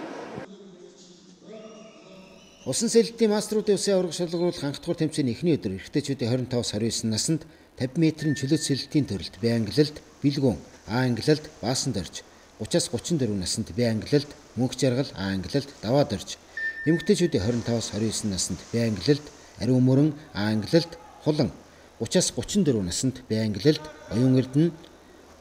Усан сэлэлтийн мастеруудын улсын аварга шалгаруулах анх дахь тэмцээний эхний өдөр эрэгтэйчүүдийн 25-29 наснд 50 метрийн чөлөөт сэлэлтийн төрөлд Б ангиллалд бэлгүүн, А ангиллалд баасан дорж, 30-аас 34 наснд Б ангиллалд мөнх жаргал, А ангиллалд даваа дорж, эмэгтэйчүүдийн 25-аас 29 наснд Б ангиллалд ариун мөрөн, А ангиллалд хулан, 30-аас 34 наснд Б ангиллалд оюун эрдэнэ,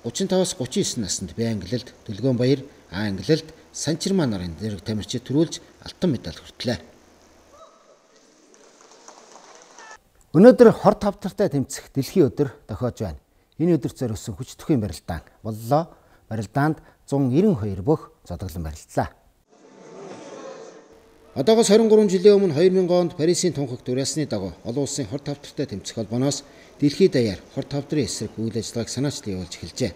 35-аас 39 наснд Б ангиллалд Дөлгөөн баяр, А ангиллалд Санчирмаа нарын зэрэг тамирчид төрүүлж алтан медаль хүртлээ. Өнөөдөр хор тавтартай тэмцэх дэлхийн өдөр тохиож байна. Энэ өдөрт зориулсан хүч төхийн барилдаан боллоо. Барилдаанд 192 бүх зодоглон барилдлаа. Одоогоос 23 жилийн өмнө 2000 онд Парисын тунхагт уриалсны дагуу олон улсын хор тавтартай тэмцэх холбооноос дэлхийд даяар хор тавдрын эсрэг үйл ажиллагааг санаачлан явуулж эхэлжээ.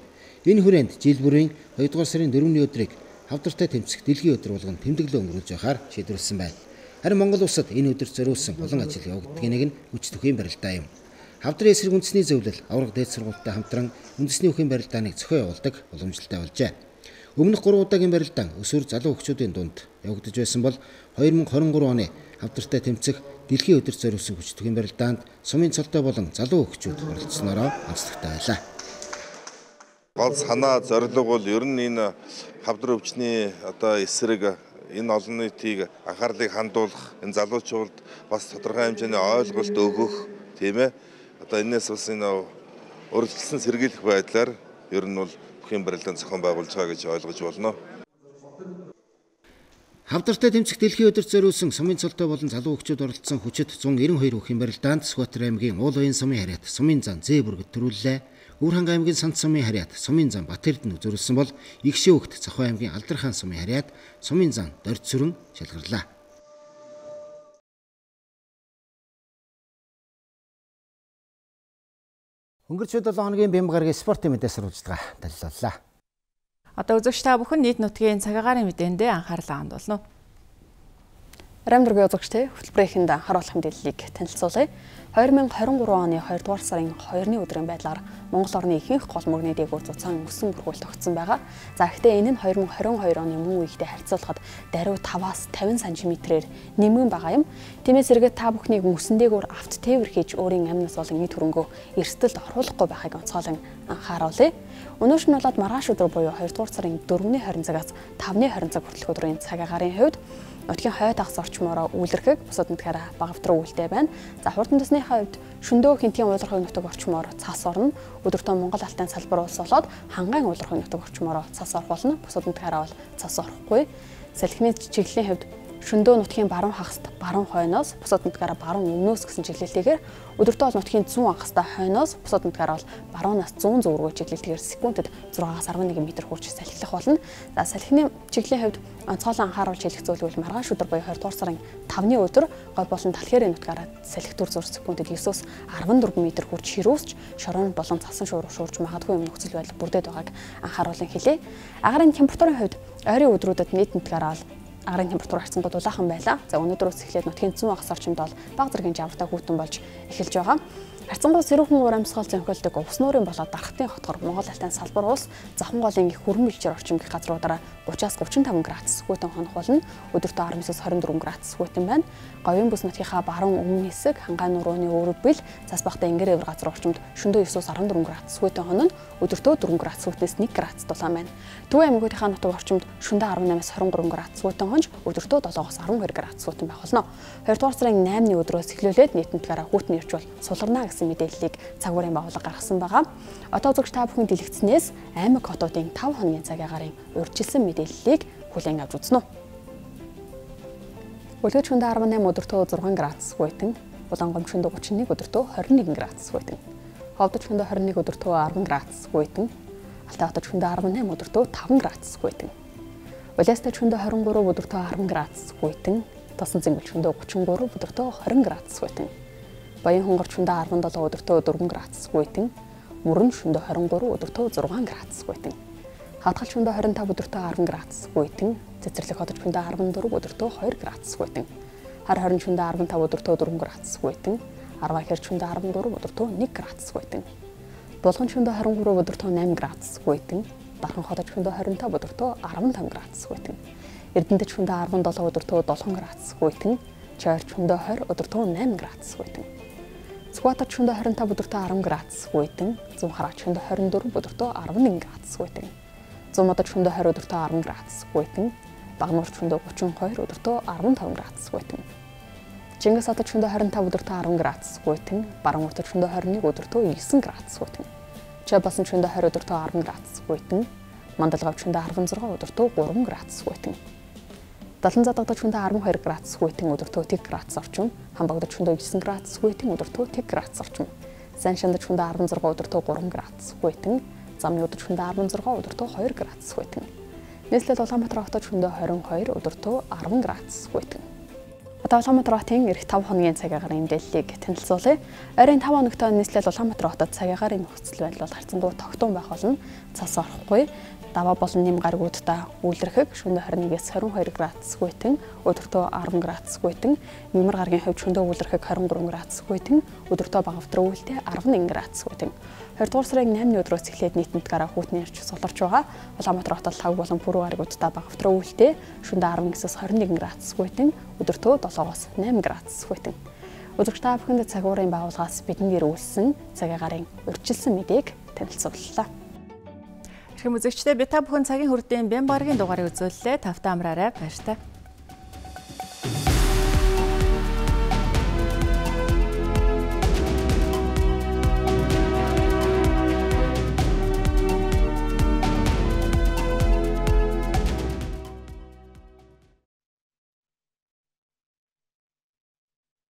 Энэ хүрээнд жил бүрийн 2 дугаар сарын 4-ний өдрийг хавдартай тэмцэх дэлхийн өдөр болгон тэмдэглэл өнгөрүүлж байхаар шийдвэрлсэн байна. Харин Монгол улсад энэ өдөрт зориулсан олон ажил явагддгийг нэг нь хүч төхийн барилдаа юм. Хавдрын эсрэг үндэсний зөвлөл аварга дээд сургуультай хамтран үндэсний үхийн барилдааныг зохион явуулдаг уламжлалтай болжээ. Өмнөх 3 удаагийн барилдаан өсвөр залуу хөгчүүдийн дунд явагдаж байсан бол 2023 оны хавдартай тэмцэх дэлхийн өдөрт зориулсан хүч төхийн барилдаанд сумын цолтой болон залуу хөгчүүд оролцсноороо онцлогтой байлаа. Гол санаа зорилго бол ер нь энэ хавдар өвчний эсрэг энэ олон нийтийг анхаарлыг хандуулах, энэ залуучууд бас тодорхой хэмжээний ойлголт өгөх тийм ээ. Энэс бас энэ урьдчилсан сэргийлэх байдлаар ер нь бол бүхэн барилдаан зохион байгуулж байгаа гэж ойлгож болно. Хавдартай тэмцэх дэлхийн өдөрт зориулсан сумын цолтой болон залуу хөгчид оролцсон хүчит 192 хүүхийн барилдаанд Сүхбаатар аймгийн Уул уян сумын харьяат Сумын зан Зэ бүргэд төрүүллээ. Өвөрхангай аймгийн Сант сумын харьяат Сумын зан Бат Эрдэнэ зориулсан бол Игшээ хөгт Цохой аймгийн Алдархан сумын харьяат Сумын зан Дорд сүрэн шалгарлаа. Өнгөрсөн 7 хоногийн Бямбгаргийн спортын мэдээ сурвалжлага далилаллаа. Одоо үзэгч та бүхэн нийт нутгийн цаг агаарын мэдээндээ анхаарлаа хандуулна. Рамдргийн үзэгчтэй хөтөлбөрийнхэнд анхааруулах мэдээллийг танилцуулъя. 2023 оны 2 дугаар сарын 2-ны өдрийн байдлаар Монгол орны ихэнх гол мөрний дээгүүр зузаан өссөн бүрхүүл тогтсон байгаа. За гэхдээ энэ нь 2022 оны мөн үеийнхтэй харьцуулахад даруй 5-аас 50 см-ээр нэмгэн байгаа юм. Тиймээс эргээд та бүхнийг мөсөн дээгүүр авт тээвэр хийж өөрийн амнаас болон эд хөрөнгөө эрсдэлд оруулахгүй байхыг онцгойлон анхааруулъя. Өнөөдөр нь болоод маргааш өдөр буюу 2 дугаар сарын 4-ний 20 цагаас 5-ны 20 цаг хүртэлх өдрийн цаг агаарын хувьд нутгийн хойд хагас орчмоор үйлэрхэг бусад нутгаараа багавтруу үйлдэй байна. За хурдан төсний хувьд шөндөө хинтийн уулархаг нутаг орчмоор цас орно. Өдөртөө Монгол алтын салбар улс болоод хангайн уулархаг нутаг орчмоор цас орох болно. Бусад нутгаараа бол цас орохгүй. Салхины чиглэлийн хувьд шөндөө нутгийн баруун хагаст баруун хойноос бусад нутгаараа баруун өмнөөс гэсэн чиглэлтэйгээр өдөртөө бол нутгийн зүүн хагастай хойноос бусад нутгаараа бол баруунаас зүүн зүг рүү чиглэлтэйгээр секундэд 6-аас 11 м хүрч салхилах болно. За салхины чиглэлийн хувьд онцгойлон анхааруулж хэлэх зүйл бол маргааш өдөр буюу 20 дугаар сарын 5-ны өдөр гол болон талхээрийн нутгаараа салхи төр зур секундэд 9-өөс 14 м хүрч ширүүсч шорон болон цасан шуурж магадгүй юм нөхцөл байдал бүрдээд байгааг анхааруулan хэлье. Агаарын температурын хувьд ойрын өдрүүдэд нийт нутгаараа агаарын температур харьцангуй дулаахан байлаа. За өнөөдрөөс эхлээд нутгийн зүүн хагас орчимд бол бага зэргийн жавартай хүйтэн болж эхэлж байгаа. Харьцангуй сэрүүхэн урамсгал зөнхөлдөг увс нуурын болоод дархтын хотгор Монгол алтын салбар улс Завхан голын их хүрэн бэлчээр орчим гэх газруудаараа 30-аас 35 градус хүйтэн хонох болно. Өдөртөө 19-аас 24 градус хүйтэн байна. Говийн бүс нутгийнхаа баруун өмнө хэсэг хангай нурууны өөрөг бил цас бахтай энгэр эвэр газар орчимд шөнөдөө 9-аас 14 градус хүйтэн хонно. Өдөртөө 4 градус хүйтнээс 1 градус дулаан байна. Төвийн аймагуудынхаа нутаг орчимд шөнөдөө 18-аас 23 градус хүйтэн хонж өдөртөө 7-аас 12 градус хүйтэн байх болно. 2 дугаар сарын 8-ны өдрөөс эхлүүлээд нийтэн нутгаараа хүйтэн ирж бол сулгарна гэсэн мэдээллийг цагуурын байгууллага гаргасан байгаа. Одоо үзэгч та бүхэн дэлгэцнээс аймаг хотуудын 5 хоногийн цаг агарын урьдчилсан мэдээллийг хүлээн авч үзнэ. Үлгэж шөнөдөө 18 өдөртөө 6 градус хүйтэн, Булангом шөнөдөө 31 өдөртөө 21 градус хүйтэн, Ховдод шөнөдөө 21 өдөртөө 10 градус хүйтэн, Алтай хотод шөнөдөө 18 өдөртөө 5 градус хүйтэн, Улаастай шөнөдөө 23 өдөртөө 10 градус хүйтэн, Тосон цэнгэл шөнөдөө 33 өдөртөө 20 градус хүйтэн, Баян хонгор шөнөдөө 17 өдөртөө 4 градус хүйтэн, Мөрөн шөнөдөө 23 өдөртөө 6 градус хүйтэн, Хадгал шөнөдөө 25 өдөртөө 10 градус хүйтэн, Цэцэрлэг хотод шөнөдөө 14 өдөртөө 2 градус хүйтэн, Хар хорин шөнөдөө 15 өдөртөө 4 градус хүйтэн, Арваа хэр шөнөдөө 14 өдөртөө 1 градус хүйтэн, Булган шөнөдөө 23 өдөртөө 8 градус хүйтэн, Дархан хотод шөнөдөө 25 өдөртөө 15 градус хүйтэн, Эрдэнэт шөнөдөө 17 өдөртөө 7 градус хүйтэн, Чойр шөнөдөө 20 өдөртөө 8 градус хүйтэн, Сүхбаатар шөнөдөө 25 өдөртөө 10 градус хүйтэн, Зүүн хараач шөнөдөө 24 өдөртөө 11 градус хүйтэн, Зүүн модод шөнөдөө 20 өдөртөө 10 градус хүйтэн, Багнуур шөнөдөө 32 өдөртөө 15 градус хүйтэн, Чингис хотод шөнөдөө 25 өдөртөө 10 градус хүйтэн, Баруун хотод шөнөдөө 21 өдөртөө 9 градус хүйтэн, Чойбасан шөнөдөө 20 өдөртөө 10 градус хүйтэн, Мандалгав шөнөдөө 16 өдөртөө 3 градус хүйтэн, Далан задагдад шөнөдөө 12 градус хүйтэн өдөртөө 1 градус орчим, Хамбагдад шөнөдөө 9 градус хүйтэн өдөртөө 1 градус орчим, Сайн шандад шөнөдөө 16 өдөртөө 3 градус хүйтэн, Замны өдөр шөнөдөө 16 өдөртөө 2 градус хүйтэн. Нийслэл Улаанбаатар хотод шөнөдөө 22 өдөртөө 10 градус хүйтэн. Одоо Улаанбаатар хотын эх 5 хоногийн цаг агарын мэдээллийг танилцуулъя. Ойрын 5 хоногт нийслэл Улаанбаатар хотод цаг агарын нөхцөл байдал бол харьцангуй тогтун байх болно. Цас орохгүй. Даваа болон нэм гаригуудаа үйлэрхэг шөнөдөө 21-ээс 22 градус хүйтэн, өдөртөө 10 градус хүйтэн, Мямар гарагийн хувьд шөнөдөө үйлэрхэг 23 градус хүйтэн, өдөртөө багавтруу үйлдэ 11 градус хүйтэн. 2 дугаар сарын 8-ны өдрөөс эхлээд нийт нутгаараа хүйтэн ирж суларч байгаа. Улаанбаатар хотод лаг болон пүрэв гаригуудаа багавтруу үйлдэ шөнөдөө 19-ээс 21 градус хүйтэн, өдөртөө 7-оос 8 градус хүйтэн. Үзэгч та бүхэнд цагуурын байгууллагаас бидэнд ирүүлсэн цаг агарын урьдчилсан мэдээг танилцууллаа. Үзэгчдээ би та бүхэн цагийн хүрдийн Бямбгаргийн дугаарыг үзүүллээ. Тавтай амраарай. Баяртай.